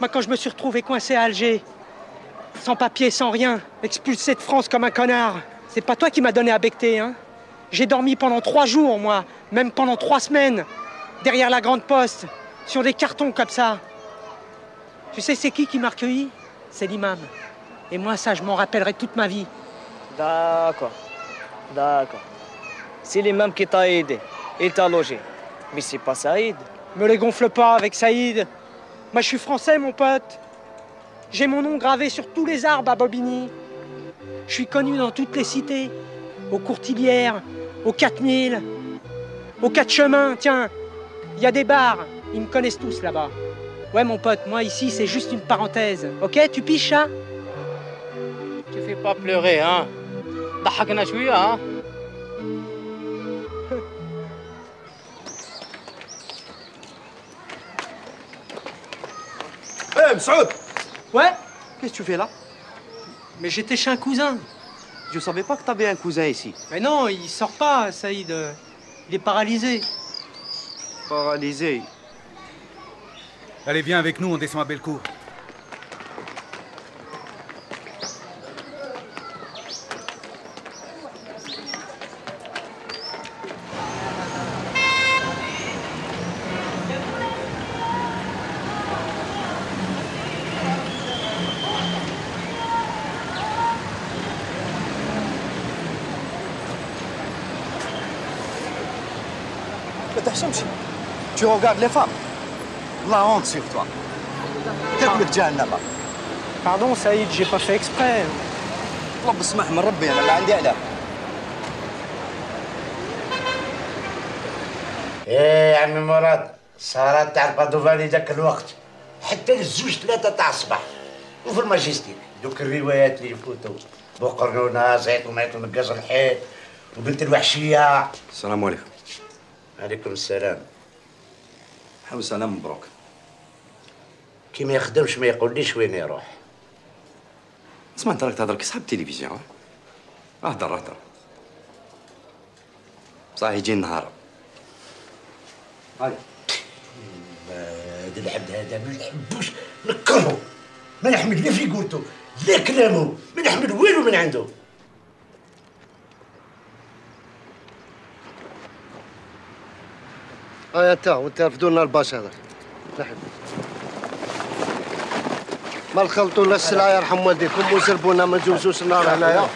Moi, quand je me suis retrouvé coincé à Alger, sans papier, sans rien, expulsé de France comme un connard, c'est pas toi qui m'as donné à becter, hein? J'ai dormi pendant trois jours, moi, même pendant trois semaines, derrière la grande poste, sur des cartons comme ça. Tu sais, c'est qui qui m'a recueilli? C'est l'imam. Et moi, ça, je m'en rappellerai toute ma vie. D'accord, d'accord. C'est l'imam qui t'a aidé et t'a logé. Mais c'est pas Saïd. Me les gonfle pas avec Saïd. Moi, je suis français, mon pote. J'ai mon nom gravé sur tous les arbres à Bobigny. Je suis connu dans toutes les cités. Aux Courtilières, aux quatre mille, aux quatre chemins. Tiens, il y a des bars. Ils me connaissent tous là-bas. Ouais, mon pote, moi, ici, c'est juste une parenthèse. Ok, tu piches ça? Tu fais pas pleurer, hein? ضحكنا شوية, hein? Eh, Msaoud! Ouais? Qu'est-ce que tu fais là? Mais j'étais chez un cousin. Je savais pas que t'avais un cousin ici. Mais non, il sort pas, Saïd. Il est paralysé. Paralysé? Allez, viens avec nous, on descend à Bellecour. Tu regardes les femmes. La honte sur toi. تاكلك جهنم. Pardon, Saïd, j'ai pas fait exprès. رب اسمح من ربي انا اللي عندي عليك. ايه يا عمي مراد، صارت تاع البادوفاني ذاك الوقت حتى للزوج ثلاثة تاع الصباح وفي الماجستيك دوك الروايات اللي يفوتوا بوقرنونة زيت وميت ونقاز الحيط وبنت الوحشية. السلام عليكم. عليكم السلام. حاول سلام مبروك. كي ما يخدمش ما يقوليش وين يروح. اسمع انت راك تهضر كصاحب التلفزيون. اهدر اهدر. صح يجي النهار. هاي. هذا العبد هذا ما نحبوش، نكرهو، ما نحمل لا في قولتو لا كلامو، ما نحمل والو من عنده. هيا تا وانت رفدوا لنا الباش هذاك. نحب. ما نخلطوا لا السلعه يرحم والديكم وزربونا ما نجوزوش النار هنايا.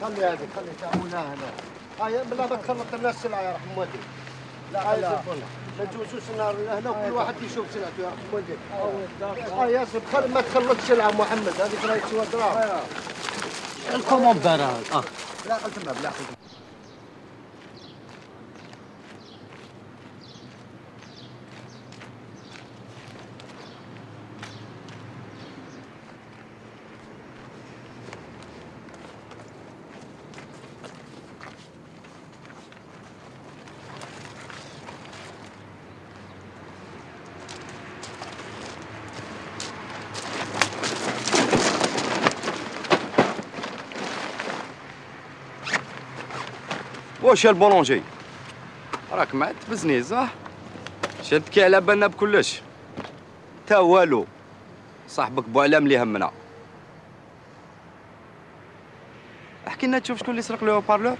خلي هذيك خلي تعاونها هنا. هيا بلا ما تخلط لنا السلعه يرحم والديك. لا هيا زربونا ما نجوزوش النار هنا وكل واحد يشوف سلعته يرحم والديك. هيا زرب ما تخلطش السلعه محمد هذيك راهي تسوى دراهم. الكوموندار اه لا قلت ما بلا قلت. واش يا البولونجي راك ما تبزني صح؟ شدكي على بالنا بكلش تا والو صاحبك بوعلام اللي همنا. احكي لنا تشوف شكون اللي سرق له بارلور؟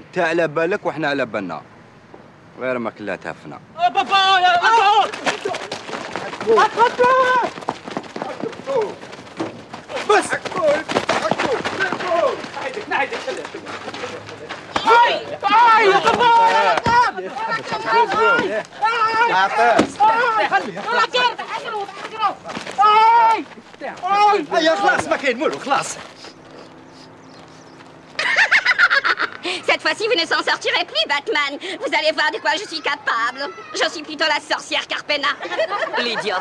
انت على بالك وحنا على بالنا غير ما كلها تهفنا. بابا يا بابا بس نعيدك نعيدك هاي هاي يا بابا يا هيا خلاص ما كاين والو خلاص. Cette fois-ci, vous ne s'en sortirez plus, Batman. Vous allez voir de quoi je suis capable. Je suis plutôt la sorcière Carpena. Lydia,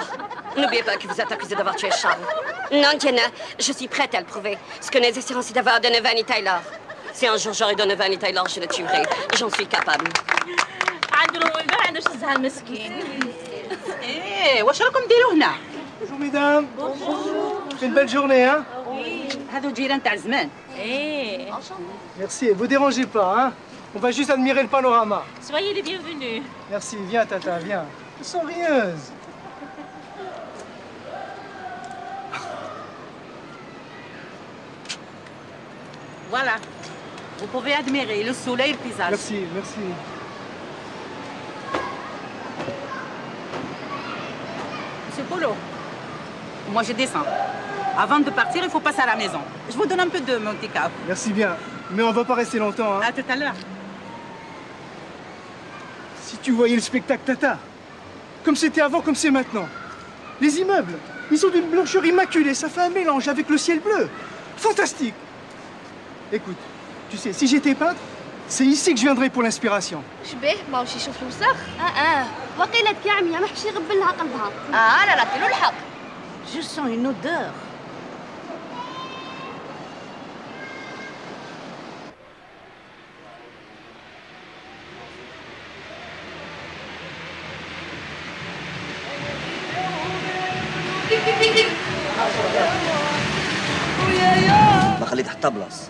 n'oubliez pas que vous êtes accusée d'avoir tué Charles. Non, Diana, je suis prête à le prouver. Ce que nous essayons, c'est d'avoir Donovan et Taylor. Si un jour j'aurai Donovan et Taylor, je le tuerai. J'en suis capable. ايه واش راكم ديروا هنا؟ Bonjour mesdames. C'est une belle journée, hein? هذو جيران تاع زمان. ايه. Merci, vous dérangez pas, hein? On va juste admirer le panorama. Soyez les bienvenus. Merci, viens Tata, viens. Elles sont rieuses. Voilà. Vous pouvez admirer le soleil et le paysage. Merci, merci. Monsieur Polo, moi je descends. Avant de partir, il faut passer à la maison. Je vous donne un peu de Monte-Carlo. Merci bien. Mais on va pas rester longtemps, hein? À tout à l'heure. Si tu voyais le spectacle Tata, comme c'était avant, comme c'est maintenant. Les immeubles, ils sont d'une blancheur immaculée, ça fait un mélange avec le ciel bleu. Fantastique. Écoute, tu sais, si j'étais peintre, c'est ici que je viendrais pour l'inspiration. شبيه ما واش يشوف الوسخ؟ اه اه وقيلة كعمية ما حبش يغبن لها قلبها. اه لا لا كيلو الحق. Je sens une odeur. ما خليت حتى بلاص.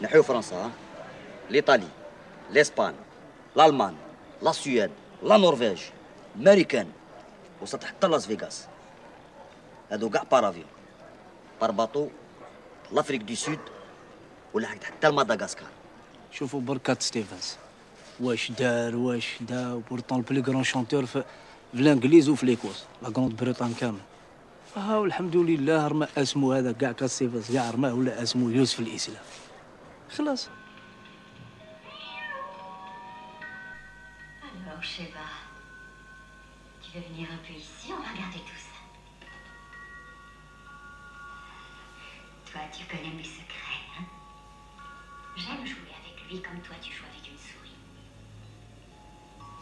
نحيو فرنسا ها؟ لإيطالي، لإسبان، الألمان، لا السويد، لا نرويج، أمريكان، وصلت حتى لاس فيغاس. هادو كاع بارافيون، بار باطو، لافريك دو سود، ولحقت حتى لمدغاسكار. شوفوا بركات ستيفنز واش دار واش دا بورتون البلي كرون شونتور في الانجليز وفي ليكوس لا كروند بريطان كامل. ها والحمد لله رمى اسمو هذا كاع كاستيفنز كاع رماه ولا اسمو يوسف الاسلام. خلاص. Alors, Sheba, tu veux venir un peu ici? On va regarder tout ça. Toi, tu connais mes secrets, hein? J'aime jouer avec lui comme toi, tu joues avec une souris.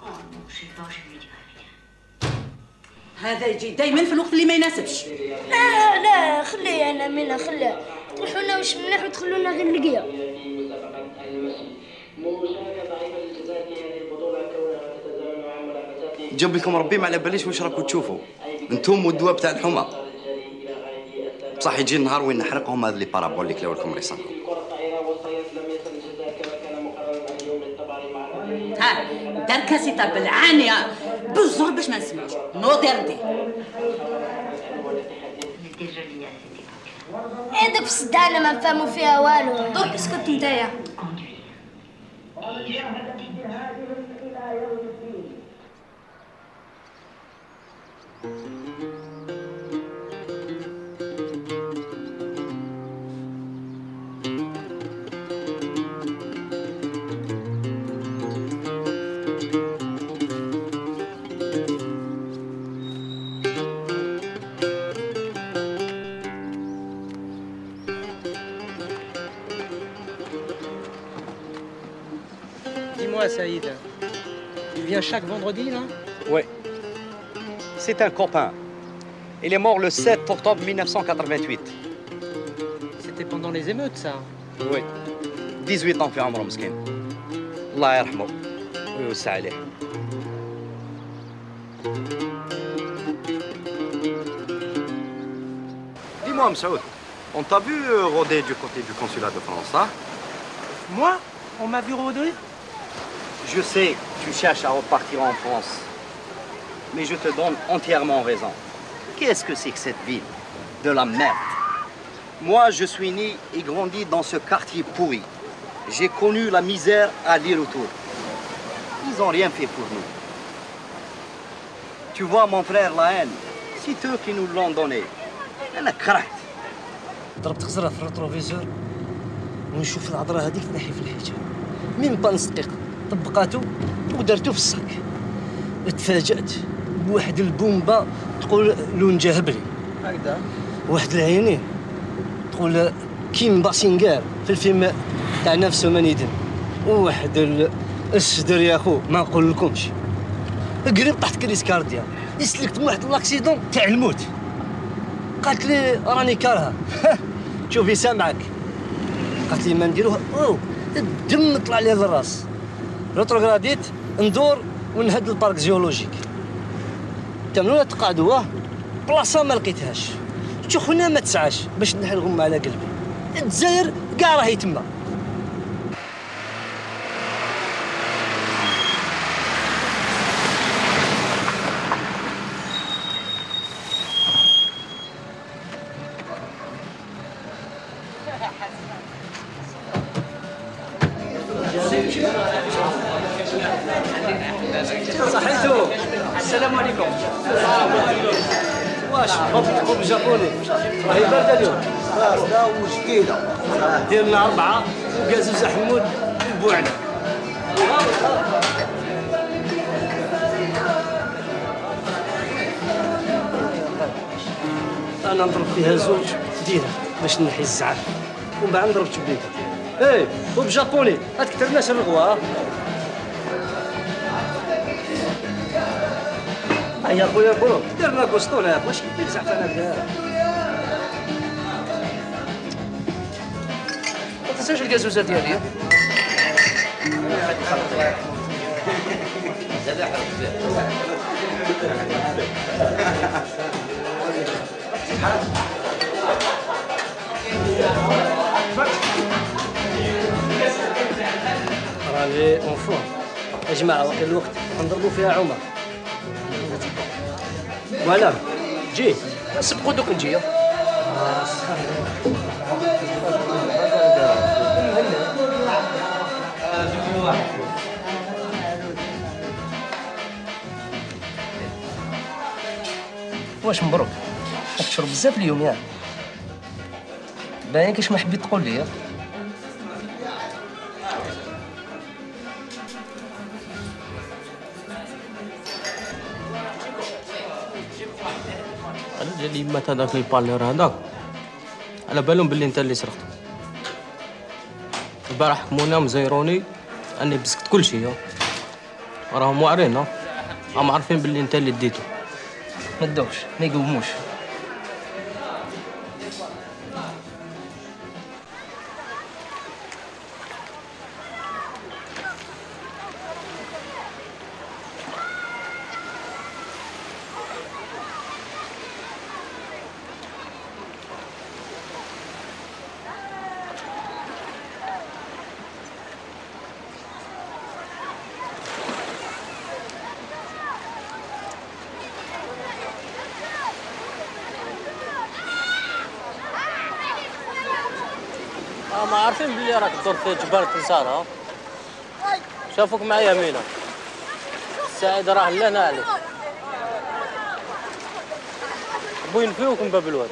Oh non, Sheba, je ne lui dirai rien. هذا يجي دايما في الوقت اللي ما يناسبش. لا لا خليه انا منها خليه تروحوا لنا واش مليح وتخلونا غير نلقيها. جاب لكم ربي ما على باليش واش راكم تشوفوا انتم والدواء بتاع الحمى. بصح يجي النهار وين نحرقهم هذا لي بارابوليك اللي ولكم ريسانكم. ها دار كاسيتا بالعانيه بالزور باش ما نسمعوش. نو ديردي. هذاك في الصدانه ما نفهموا فيها والو. درك اسكت نتايا. Dis-moi, Saïd, il vient chaque vendredi, là? Oui. C'est un copain. Il est mort le sept octobre mille neuf cent quatre-vingt-huit. C'était pendant les émeutes, ça? Oui. dix-huit ans في عمره مسكين. الله يرحمه ويوسع عليه. Dis-moi, Msaoud, on t'a vu rôder du côté du consulat de France, hein? Moi? On m'a vu rôder? Je sais, tu cherches à repartir en France. Mais je te donne entièrement raison. Qu'est-ce que c'est que cette ville? De la merde. Moi, je suis né et grandi dans ce quartier pourri. J'ai connu la misère à aller-retour. Ils n'ont rien fait pour nous. Tu vois, mon frère, la haine, c'est eux qui nous l'ont donné. أنا كرهت. ضربت خزرة في الريتروفيزور ونشوف العذرة هذيك تنحي في الحيطة. ميم با نص دقيقة طبقاتو ودرتو في الصاك. تفاجأت بواحد البومبا تقول لون جهبلي. هكذا. واحد العينين تقول كيم باسينغار في الفيلم تاع نفس مانيدن. وواحد الصدر يا خو ما نقول لكمش. قريب طحت كريس كارديا. يسلكت من واحد لاكسيدون تاع الموت. قالت لي راني كارهه. شوفي سامعك. قالت لي ما نديروها. اوه الدم طلع لي للراس. روتروغراديت ندور ونهد البارك جيولوجيك. تمنوا تقعدوا بلاصه ما لقيتهاش. شو خونا ما تسعاش باش نحي الغمه على قلبي. الجزائر كاع راهي تما. صحيتو. السلام عليكم. واش خبز جابوني راهي بارده اليوم. بارده وشكيله. ديرنا اربعه وكازوز حمود وبوعنا. انا نضرب فيها زوج ديرها باش نحي الزعف ومن بعد نضرب تبيته. ايه خبز جابوني ما تكثرناش الرغوه. هيا خويا برو درنا كوسطونه واش كيف زعفانه بها. ما تنساش الكازوزه ديالي. راني اون فور يا جماعه وقت الوقت نضربوا فيها عمر. فوالا جي سبقوا دوك نجي. واش مبروك راك تشرب بزاف اليوم ياك. باين كاش ما حبيت تقول لي. انا جالي مات هذاك البالير هذاك على بالهم باللي انت اللي سرقته. البارح حكمونا مزيروني اني بسكت كل شيء. راهم واعرين راهم عارفين باللي انت اللي ديته. ما تدوش ما يقوموش. ما عارفين بلي راك تدور في جبال تنسارة. شافوك مع يمينة السعيد راه لهنا عليك. بوين فيوك من باب الواد.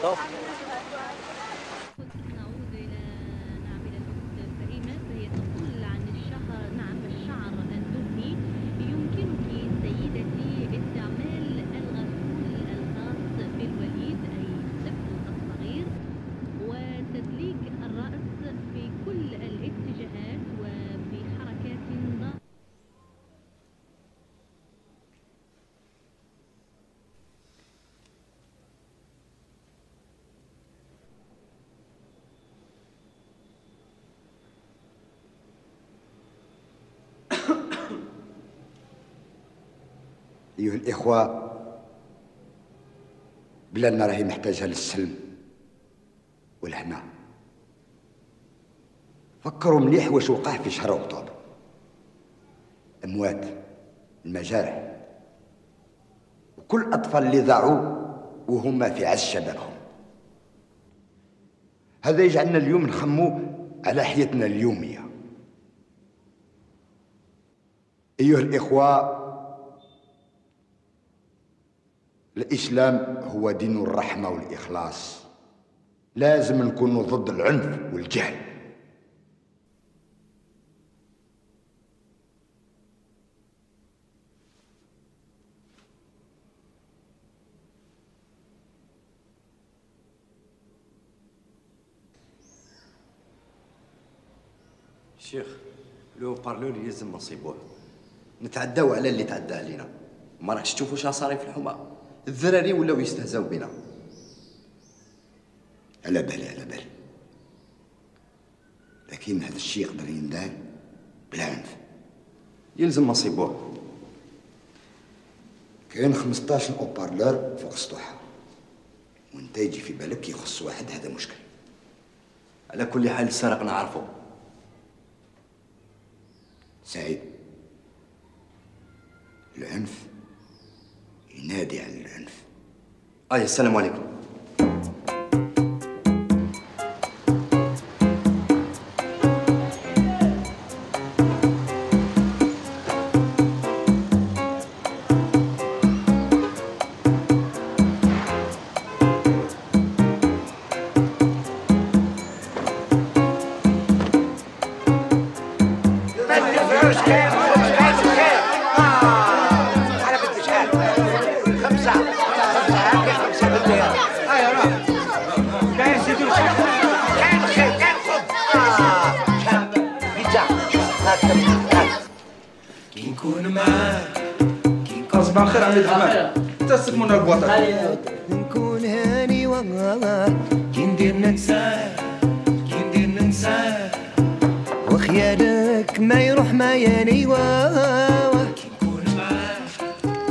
أيها الإخوة، بلادنا راهي محتاجة للسلم والهنا. فكروا مليح واش وقع في شهر أكتوبر. أموات، المجارح، وكل الأطفال اللي ضاعوا وهما في عز شبابهم. هذا يجعلنا اليوم نخمو على حياتنا اليومية. أيها الإخوة، الإسلام هو دين الرحمة والإخلاص. لازم نكونوا ضد العنف والجهل. شيخ، لو بارلور يلزم نصيبوه. نتعداو على اللي تعدى علينا. ما راكش تشوفوا شنو صاري في الحومه؟ الذراري ولاو يستهزاو بنا. على بالي على بالي، لكن هذا الشيء يقدر يندار بلا عنف. يلزم نصيبوه. كاين خمسطاش اوبارلور فوق السطوحه، وانت يجي في بالك يخص واحد، هذا مشكل. على كل حال السرق نعرفه. سعيد، العنف ينادي على العنف. آه السلام عليكم. صباح الخير عمي الحمام، تسلمونا البواطه. نكون هاني والله كي ندير ننساه، كي ندير ننساه وخيالك ما يروح ما ياني واه.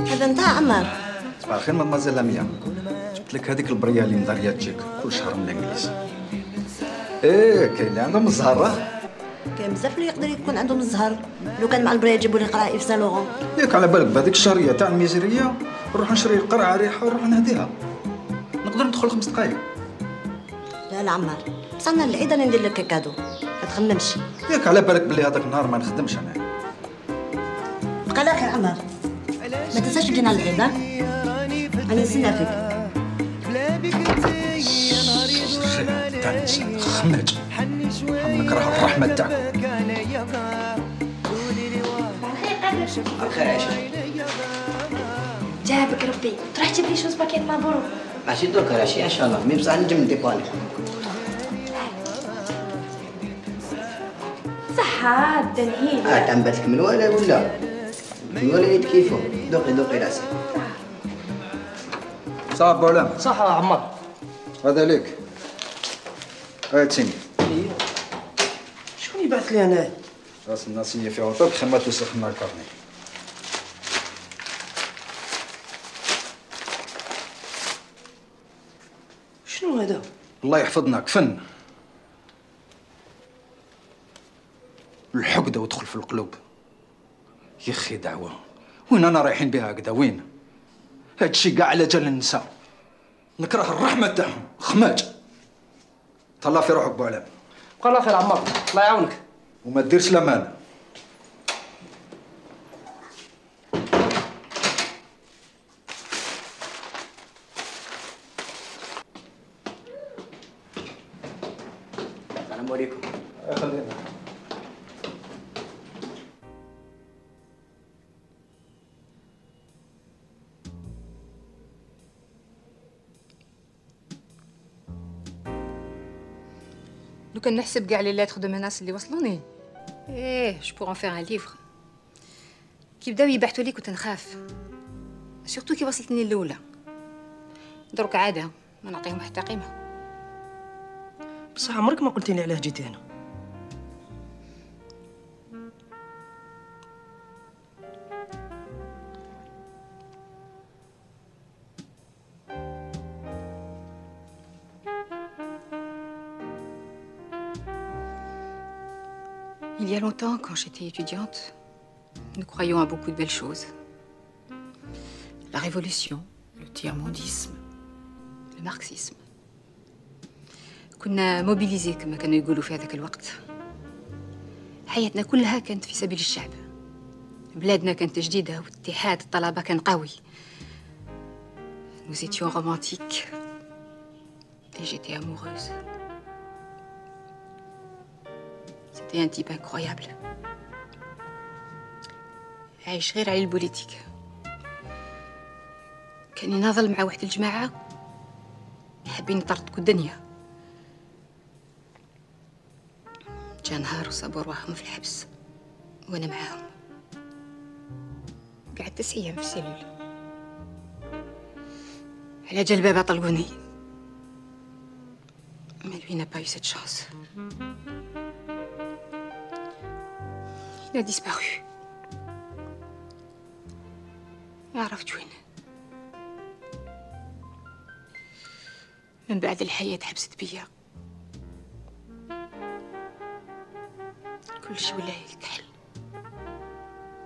هذا نتاع عمار. صباح الخير مدمازيل لميا، جبت لك هذيك البريه اللي مداريه تجيك كل شهر من الانجليز. ايه كاين اللي عندهم الزهره. كاين بزاف اللي يقدر يكون عندهم الزهر، لو كان مع البريه يجيبوا لي قرعه في سان لورون. ياك على بالك بهذيك الشهريه تاع الميزيريه نروح نشري القرعه ريحه ونروح نهديها. نقدر ندخل خمس دقايق. لا لا عمار، بصح انا العيد انا ندير لك كادو، ما تخممش. ياك على بالك بلي هذاك النهار ما نخدمش انا. بقى على خير عمار، ما تنساش تجينا العيد. انا نستنى فيك. تاع الانسان خماج، نكره الرحمه تاعكم. الخير عايشة. جابك ربي، تروح تجيب لي شوز باكيت مبروك. ماشي دوك راشي ان شاء الله، مي بصح نجم نديباني. صحة دنهيل. اه تنبتك من ولا ولا؟ من ولا يد كيفو، دوقي دوقي راسي. صافي بولام. صح يا عمار. هذا ليك. هاي تسيني. شكون يبعث لي انا؟ راس الناسية في عطاك خما توسخ لنا الكارني. شنو هذا؟ الله يحفظنا كفن. الحقدة وتدخل في القلوب. يا اخي دعوة، وين انا رايحين بها هكذا وين؟ هادشي كاع على جال النساء. نكره الرحمة تاعهم، خماج. تهلا في روحك بوعلام. بقى الله خير عمار، الله يعاونك. وما ديرش لمان. السلام عليكم. خلينا. لو كان نحسب كاع لي لاتر دو مناس اللي وصلوني، ايه جو بور ان فير ان ليفر. كي بداو يبعثوا لي كنت نخاف، سورتو كي وصلتني الاولى. درك عاده ما نعطيهم حتى قيمه. بصح عمرك ما قلتيلي علاه جيتي هنا. Il y a longtemps, quand j'étais étudiante, nous croyions à beaucoup de belles choses. La révolution, le tiers-mondisme, le marxisme. كنا موبيليزي كما كانوا يقولوا في هذاك الوقت. حياتنا كلها كانت في سبيل الشعب. بلادنا كانت جديدة واتحاد الطلبة كان قوي. Nous étions romantiques et j'étais amoureuse. C'était un type incroyable. عايش غير على البوليتيك. كان يناضل مع واحد الجماعة حابين يطردوا الدنيا. جا نهار وصابوا رواحهم في الحبس وانا معاهم. قعدت تسع ايام في السيلول. على جال الباب طلقوني. Mais lui n'a pas eu cette chance. Il a disparu. ما عرفت وين. من بعد الحياة حبست بيا. كلشي ولا يكحل.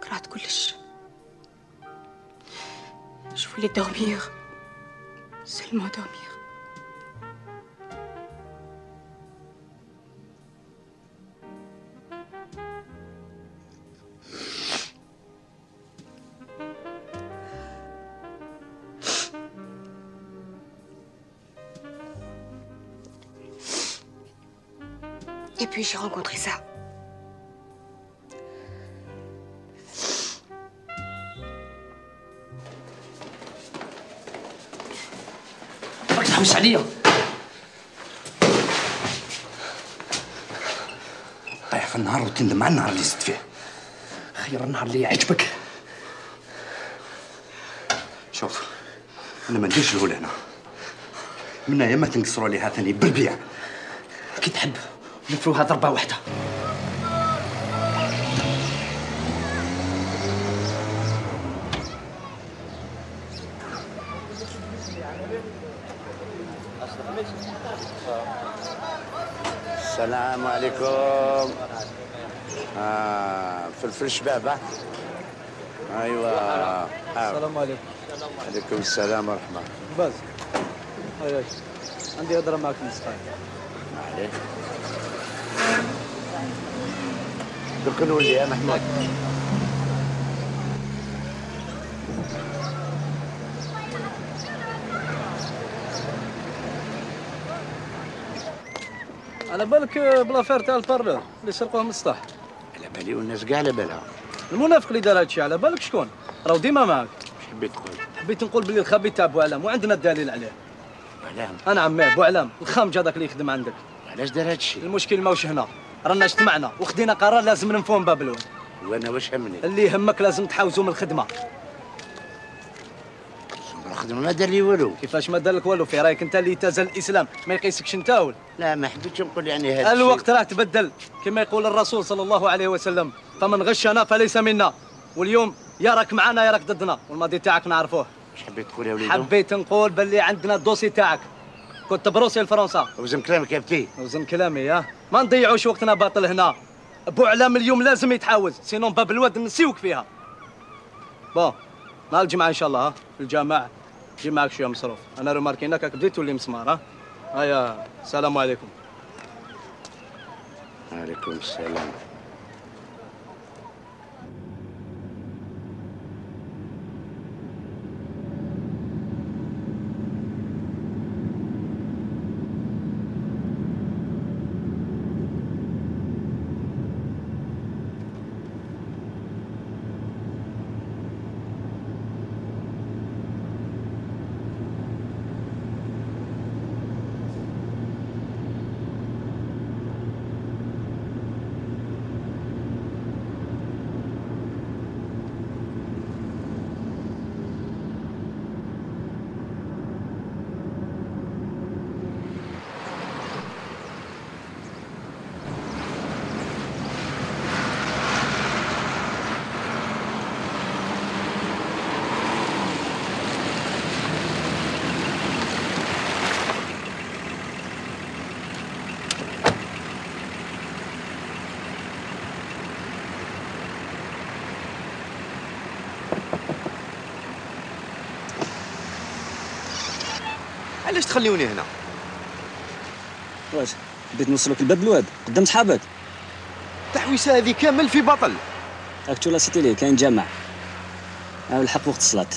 كرهت كلش. Je voulais dormir. Seulement dormir. Et puis j'ai rencontré ça. راك تحوس عليا. طيح في النهار وتندم على النهار اللي زدت فيه. خير النهار اللي يعجبك. شوف انا ما نديرش الهول هنا. من يا ما تنقصروا عليها ثاني بالبيع. كي تحب نفروها ضربه واحده. السلام عليكم. آه فلفل شباب. ايوه. السلام عليكم. عليكم السلام ورحمه. باز. هاي عندي هضره معك نص دقيقه. عليه. دوك نولي يا محمود. على بالك بلافير تاع البارلور اللي سرقوه من السطح. على بالي والناس كاع على بالها. المنافق اللي دار هادشي على بالك شكون؟ راهو ديما معاك. واش حبيت تقول؟ حبيت نقول بلي الخبيث تاع بوعلام وعندنا الدليل عليه. بوعلام؟ انا عماه بوعلام الخامج هذاك اللي يخدم عندك. علاش دار هادشي؟ المشكل ماهوش هنا، رانا اجتمعنا وخدينا قرار لازم ننفوهم بابلون. وانا واش همني؟ اللي يهمك لازم تحاوزوا من الخدمه. الخدمه ما دار لي والو. كيفاش ما دار لك والو؟ في رايك انت اللي تزال الاسلام ما يقيسكش انت ولا؟ لا ما حبيتش نقول يعني هذا الوقت راه تبدل كما يقول الرسول صلى الله عليه وسلم فمن غشنا فليس منا. واليوم يا راك معنا يا راك ضدنا والماضي تاعك نعرفوه. واش حبيت تقول يا وليدو؟ حبيت نقول باللي عندنا الدوسي تاعك كنت بروسي لفرنسا. وزن كلامك يا بتي. وزن كلامي يا ما نضيعوش وقتنا باطل هنا. بوعلام اليوم لازم يتحاوز سينون باب الواد نسيوك فيها. بون نهار الجمعه ان شاء الله ها في الجامع جي معك شويه مصروف. انا روماركيناك راك بديت تولي مسمار ها. هيا السلام عليكم. وعليكم السلام. علاش تخليوني هنا؟ واش بديت نوصلك لباب الواد قدام صحابك؟ التحويسه هذه كامل في بطل. راك تو لاسيتي ليه كاين جامع. ها الحق وقت الصلاه.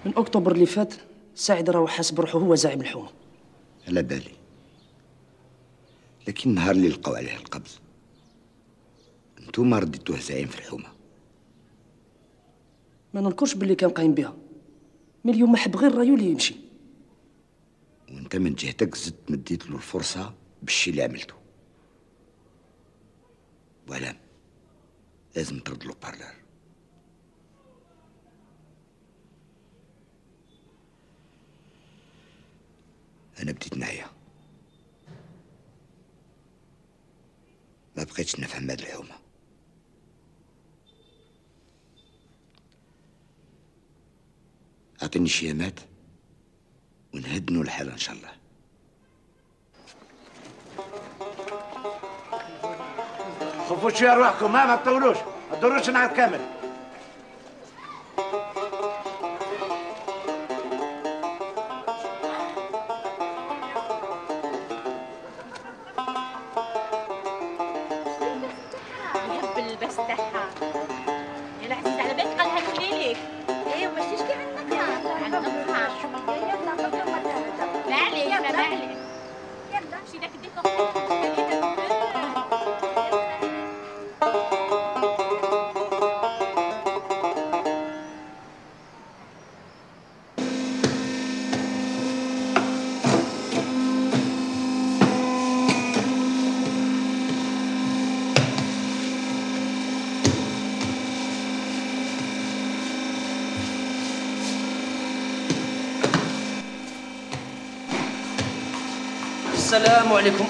من اكتوبر اللي فات سعيد راهو حاس بروحه هو زعيم الحومه. على بالي، لكن النهار اللي لقاو عليه القبض انتوما رديتوه زعيم في الحومه. ما ننكرش باللي كان قايم بها، من اليوم ما حب غير رايو اللي يمشي. وانت من جهتك زدت مديت له الفرصه بالشي اللي عملته. وعلام لازم ترد له بارلر. أنا بديت نعيا، ما بقيتش نفهم هاد الحومة. أعطيني شيامات ونهدنوا الحالة إن شاء الله. خفوا شوية روحكم، ما ما تطولوش، ما تدوروش نهار كامل. السلام عليكم.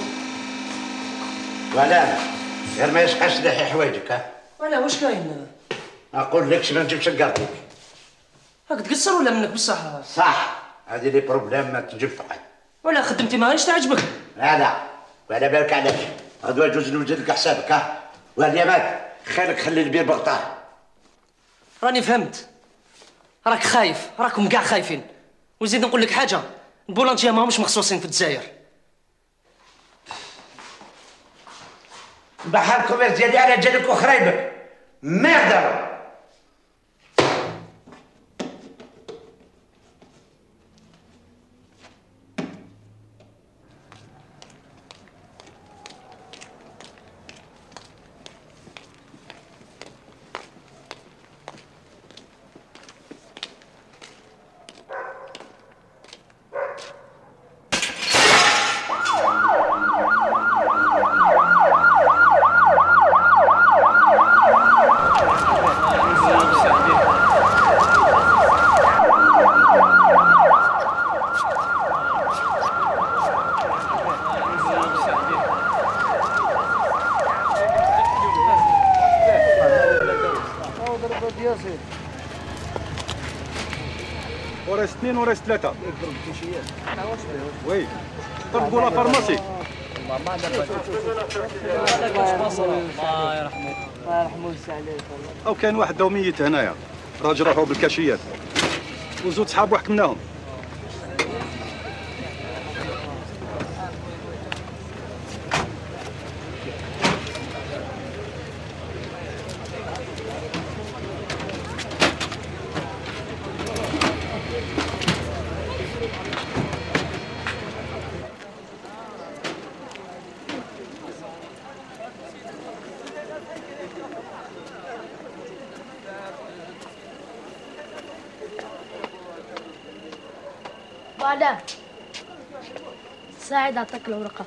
ولا غير ما يشحش لحي حوايجك. ها ولا واش كاين؟ اقول لكش ما نجيبش نقربك. راك تقصر ولا منك بصح؟ صح، هذه لي بروبليم ما تجيب فقط. ولا خدمتي ما غاديش تعجبك؟ لا لا، وعلى بالك علاش؟ هذا جوج نوجد لك حسابك. ها واليامات خيرك خلي البير بغطاه. راني فهمت، راك خايف، راكم كاع خايفين. وزيد نقول لك حاجه، البولانتيه ماهمش مخصوصين في الجزائر. بحال الكوميرس ديالي على جالك وخرايبك ميردة. وريس اثنين وريس ثلاثة. وي طلبوا لا فارماسي. الله يرحمه الله يرحمه ويسع عليك. او كاين واحد داو ميت هنايا، راجل راحوا بالكاشيات وزوج صحابو حكمناهم. بعدها ساعد اعطاك الورقة.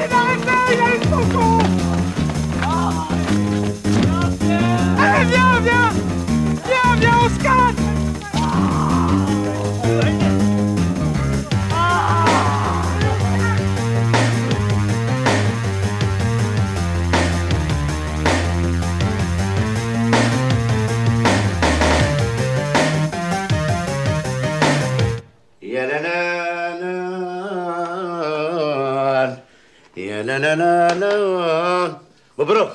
Arrêtez d'arrêter, il a une coco. Allez, viens, viens. Viens, viens, on se casse. يا لا لا لا يا لا لا لا لا مبروك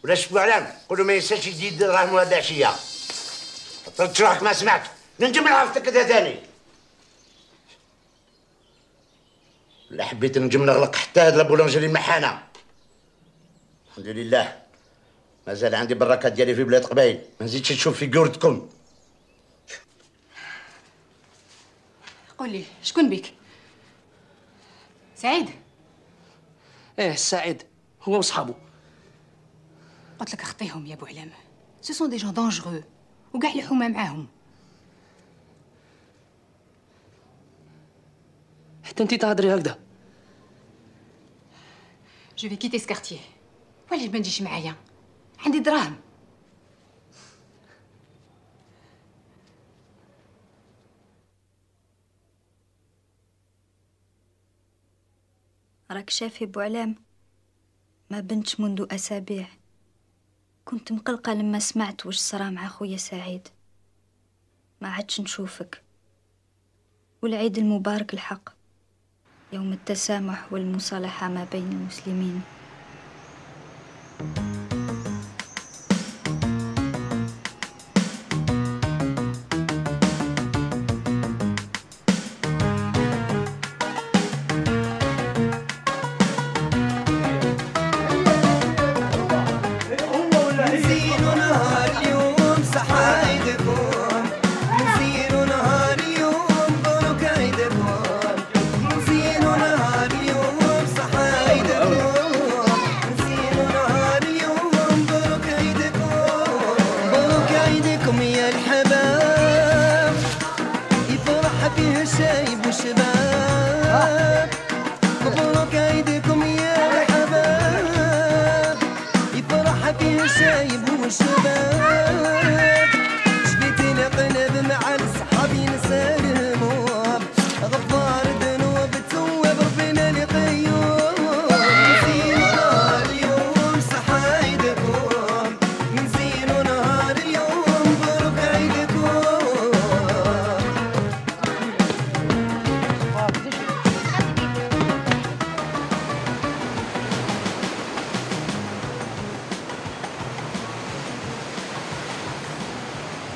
ولا شفوا علام قولوا ما ينساش يدي دراهم هاد العشيه طلت روحك ما سمعت ننجم نعرفتك كذا ثاني لا حبيت نجم نغلق حتى هاد لابولونجري محانه الحمد لله مازال عندي براكات ديالي في بلاد قبايل ما نزيدش نشوف في قورتكم قول لي شكون بيك؟ سعيد؟ ايه سعيد هو وصحابه. قلت لك خطيهم يا ابو علام، سو سون دي جون دونجرو وكاع الحومه معاهم. حتى انت تهضري هكذا. جو في كيتي سكارتيه، وعلاش ما تجيش معايا؟ عندي دراهم. راك شافي بوعلام ما بنتش منذ أسابيع. كنت مقلقة لما سمعت وش صرا مع خويا سعيد. ما عادش نشوفك. والعيد المبارك الحق، يوم التسامح والمصالحة ما بين المسلمين.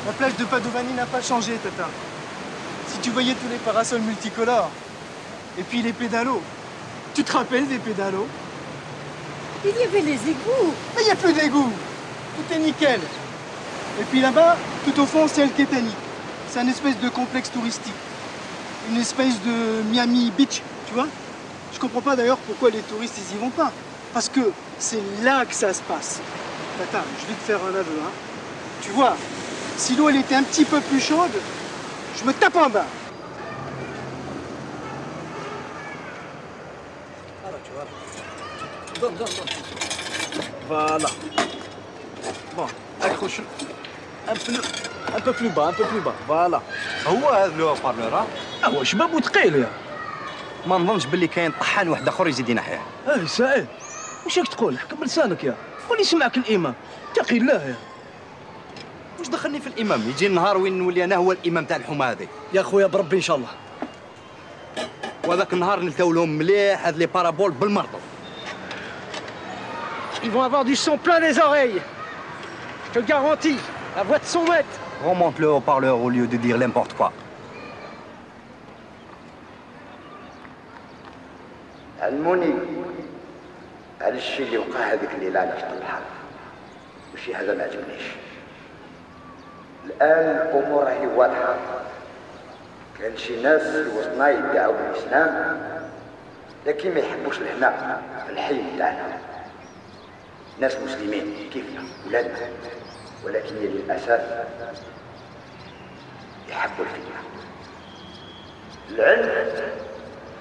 La plage de Padovani n'a pas changé, Tata. Si tu voyais tous les parasols multicolores, et puis les pédalos. Tu te rappelles des pédalos? Il y avait les égouts. Mais il n'y a plus d'égouts. Tout est nickel. Et puis là-bas, tout au fond, c'est El Ketani. C'est un espèce de complexe touristique. Une espèce de Miami Beach, tu vois? Je comprends pas d'ailleurs pourquoi les touristes, ils y vont pas. Parce que c'est là que ça se passe. Tata, je vais te faire un aveu, hein. Tu vois, si l'eau elle était un petit peu plus chaude, je me tape en bas. Donne, donne, donne. Voilà. Bon, accroche. Un peu, un peu plus bas, un peu plus bas. Voilà. هو هذا لو بارلور هو شباب وثقيل يا. ما نظنش باللي كاين طحان واحد اخر يزيد ينحيه. اي سعيد، واش راك تقول؟ حكم لسانك يا. ولي سمعك الامام. اتقي الله يا. واش دخلني في الامام؟ يجي النهار وين نولي انا هو الامام تاع الحومه هذه. يا خويا بربي ان شاء الله. وهذاك النهار نلتاو لهم مليح هاد لي بارابول بالمرضو. Ils vont avoir du son plein les oreilles. Je te le garantis. La voix de son maître. Remonte le haut-parleur au lieu de dire n'importe quoi. علموني على الشيء اللي وقع هذيك الليله على شط البحر، وشي هذا ما عجبنيش. الان الامور راهي واضحه. كان شي ناس في وسطنا يدعوا بالاسلام لكن ما يحبوش لهنا في الحي تاعنا. ناس مسلمين كيفنا ولادنا، ولكن للاسف يحبوا الفتنه. العنف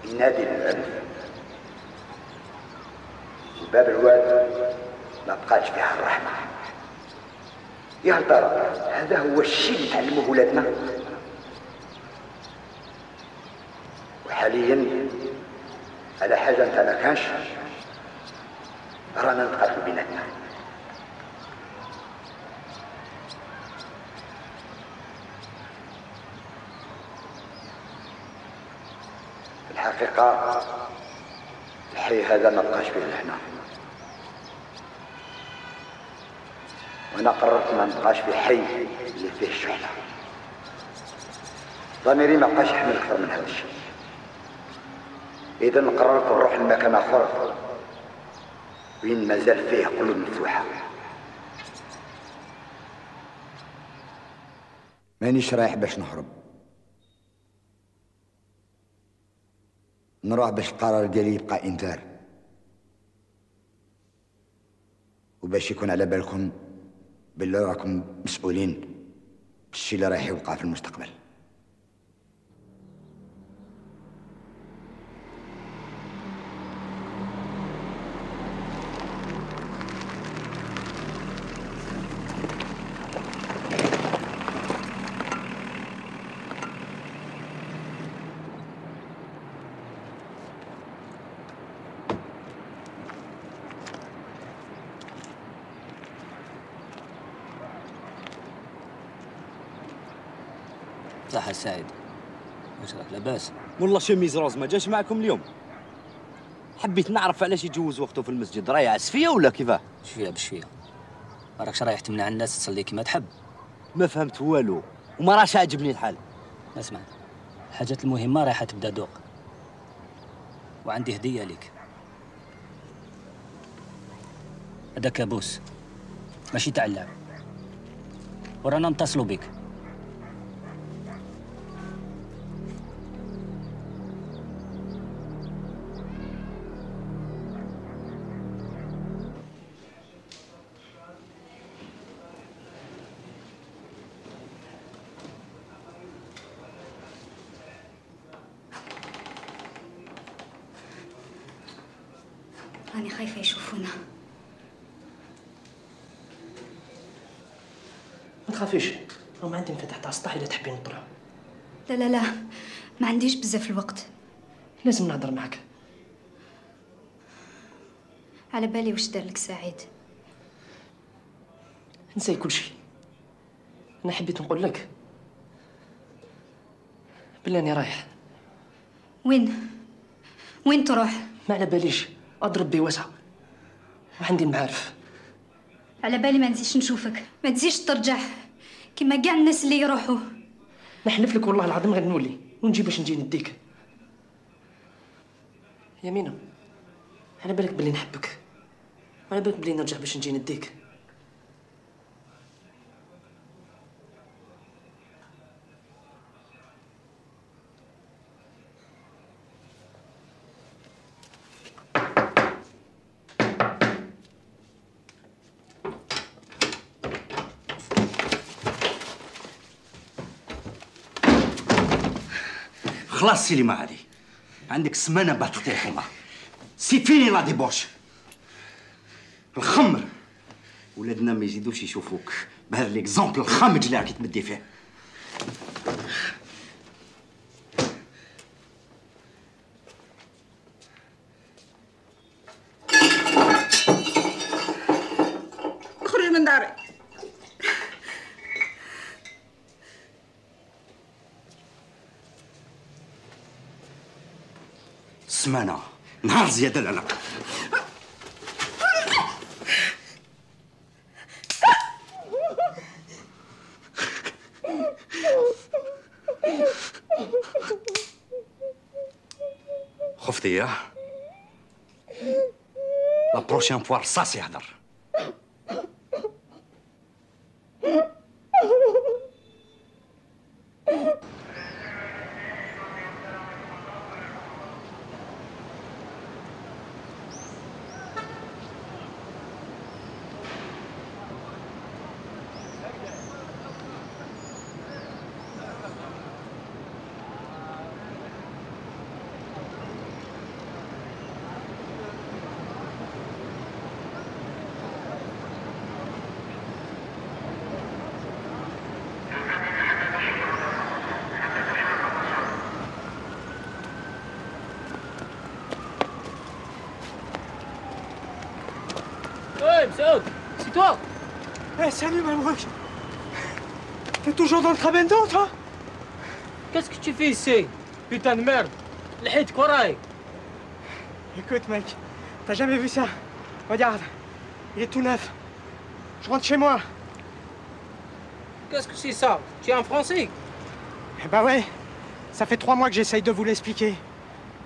ينادي للعنف. باب الواد ما بقاتش فيها الرحمة. يا ترى هذا هو الشيء اللي تعلموه ولادنا؟ وحاليا على حاجة انت ما كانش رانا نتقاتلوا بيناتنا. الحقيقة الحي هذا ما بقاش فيه الحنا، وانا قررت ما نبقاش في حي اللي فيه الشحنة. ضميري ما بقاش يحمل اكثر من هذا الشيء، اذا قررت نروح لمكان اخر وين مازال فيه قلوب مفتوحة. مانيش رايح باش نهرب، نروح باش القرار ديالي يبقى انذار، وباش يكون على بالكم باللي راكم مسؤولين بالشي اللي رايح يوقع في المستقبل. صح سعيد، واش راك لاباس؟ والله شميز روز ما جاش معكم اليوم. حبيت نعرف علاش يجوز وقته في المسجد، راه يعس فيا ولا كيفاه؟ شويه بشويه، ما راكش رايح تمنع الناس تصلي كيما تحب. ما فهمت والو وما راش عاجبني الحال. اسمع، الحاجات المهمه رايحه تبدا دوق، وعندي هديه لك. هذا كابوس ماشي تاع اللعب، ورانا نتصلوا بك. راني خايفة يشوفونا. ما تخافيش، راهم عندي انفتاح تاع السطح اذا تحبين نطلعوا. لا لا لا، ما عنديش بزاف الوقت. لازم نهضر معك. على بالي واش دار لك سعيد. نسي كل شيء. انا حبيت نقول لك بلي راني رايح. وين؟ وين تروح؟ ما على باليش، اضرب بي واسعه وعندي المعارف. على بالي ما نزيدش نشوفك، ما تزيدش ترجع كيما كاع الناس اللي يروحوا. نحلف لك والله العظيم غير نولي ونجي باش نجي نديك. يمينة، على بالك بلي نحبك، على بالك بلي نرجع باش نجي نديك. خلاص سيلي ما عادي، عندك سمانه باه تعطي الحمار. سي فيني لا ديبوش. الخمر ولادنا ما يزيدوش يشوفوك بهذا ليكزومبل الخامج اللي راكي تمدي فيه. اخرج من داري. سمانه نهار زياده لنا. خفتي يا لا بروشين فوا رصاص يهدر. Hey, Msaoud, c'est toi? Eh, salut, Mabrouk. T'es toujours dans le Trabendo, toi? Qu'est-ce que tu fais ici? Putain de merde. لحيتك وراي. Écoute, mec, t'as jamais vu ça? Regarde, il est tout neuf. Je rentre chez moi. Qu'est-ce que c'est ça? Tu es en français? Eh ben ouais, ça fait trois mois que j'essaye de vous l'expliquer.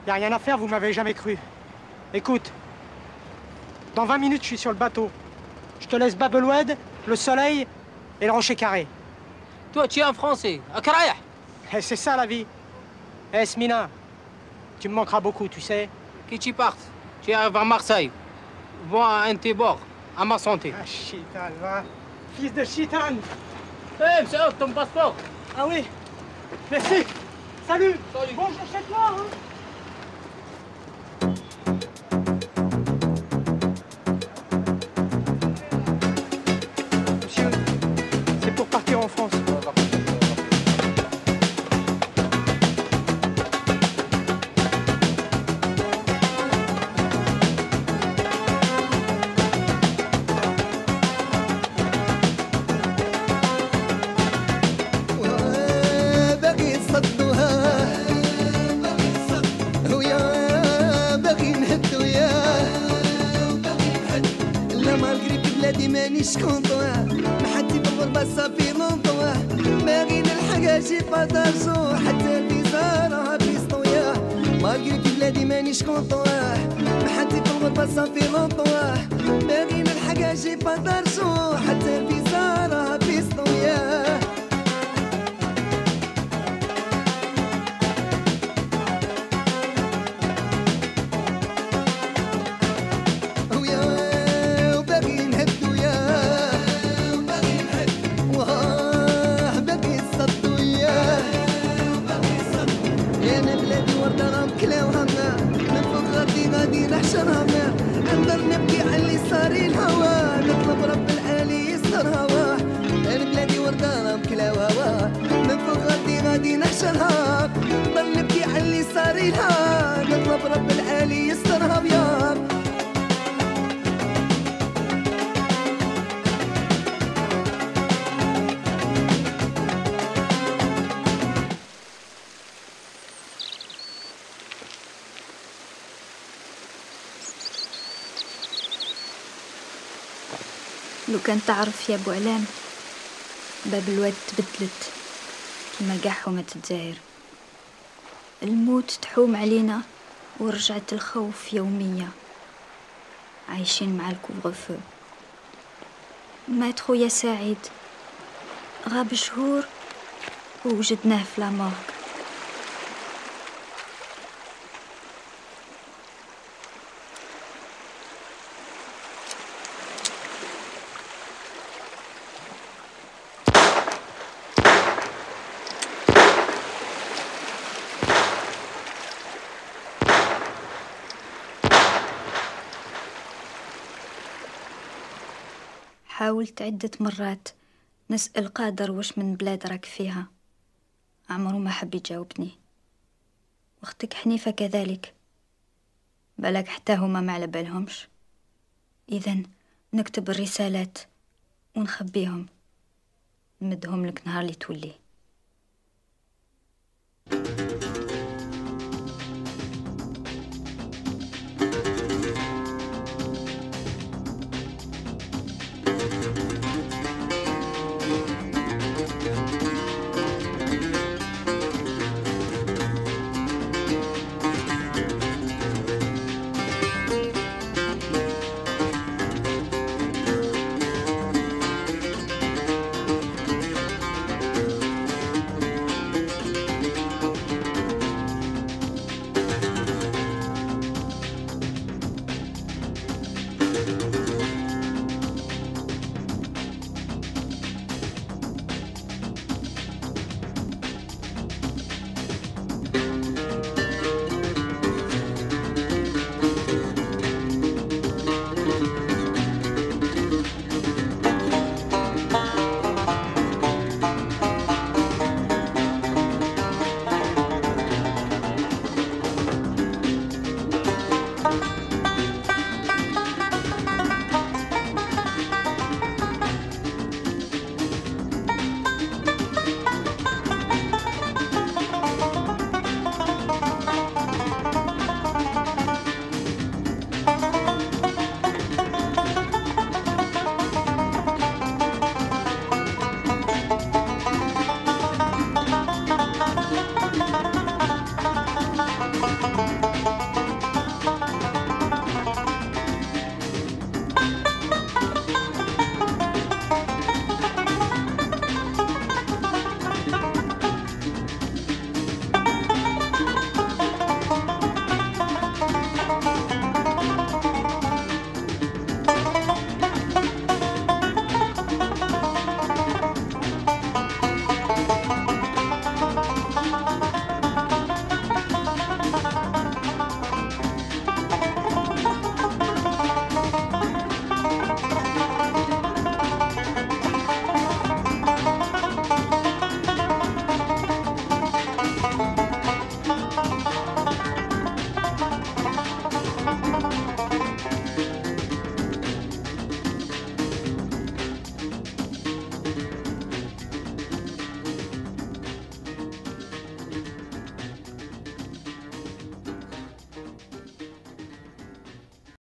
Y a rien à faire, vous m'avez jamais cru. Écoute, dans vingt minutes, je suis sur le bateau. Je te laisse Bab el-Oued, le soleil et le rocher carré. Toi, tu es en français. Akraïh. Eh, c'est ça la vie. Eh, Smina, tu me manqueras beaucoup, tu sais. Qui tu partes? Tu arrives à Marseille. Vois un Tébor, à ma santé. Ah, chitan, va. Fils de chitan. Eh, hey, Msaoud, ton passeport. Ah oui. Merci. Salut. Salut. Bonjour chez toi, hein. Monsieur, c'est pour partir en France. مانيش كونطواه ما حد يبغى صافي لونطواه باغي نلحق شي باتاجو حتى البيزارة بيسطوياه مالغري في بلادي مانيش كونطواه ما حد يبغى صافي لونطواه باغي نلحق شي باتاجو حتى البيزارة بيسطوياه نقدر نبكي على اللي صار الهوى نطلب رب العالي يستر هواه انا بلادي ورده مكلاو هواه من فوق غادي غادي نحشرها نقدر نبكي على اللي صار الهوى نطلب رب العالي يستر هواه لو كان تعرف يا ابو علام باب الواد تبدلت كيما كاع حومة الجزائر. الموت تحوم علينا ورجعت الخوف يومية. عايشين مع الكوفغ مات خويا سعيد غاب شهور ووجدناه في لامورغ. حاولت عدة مرات نسأل قادر وش من بلاد راك فيها، عمره ما حب يجاوبني. واختك حنيفة كذلك، بالك حتى هما ما على بالهمش. إذن نكتب الرسالات ونخبيهم نمدهم لك نهار اللي تولي.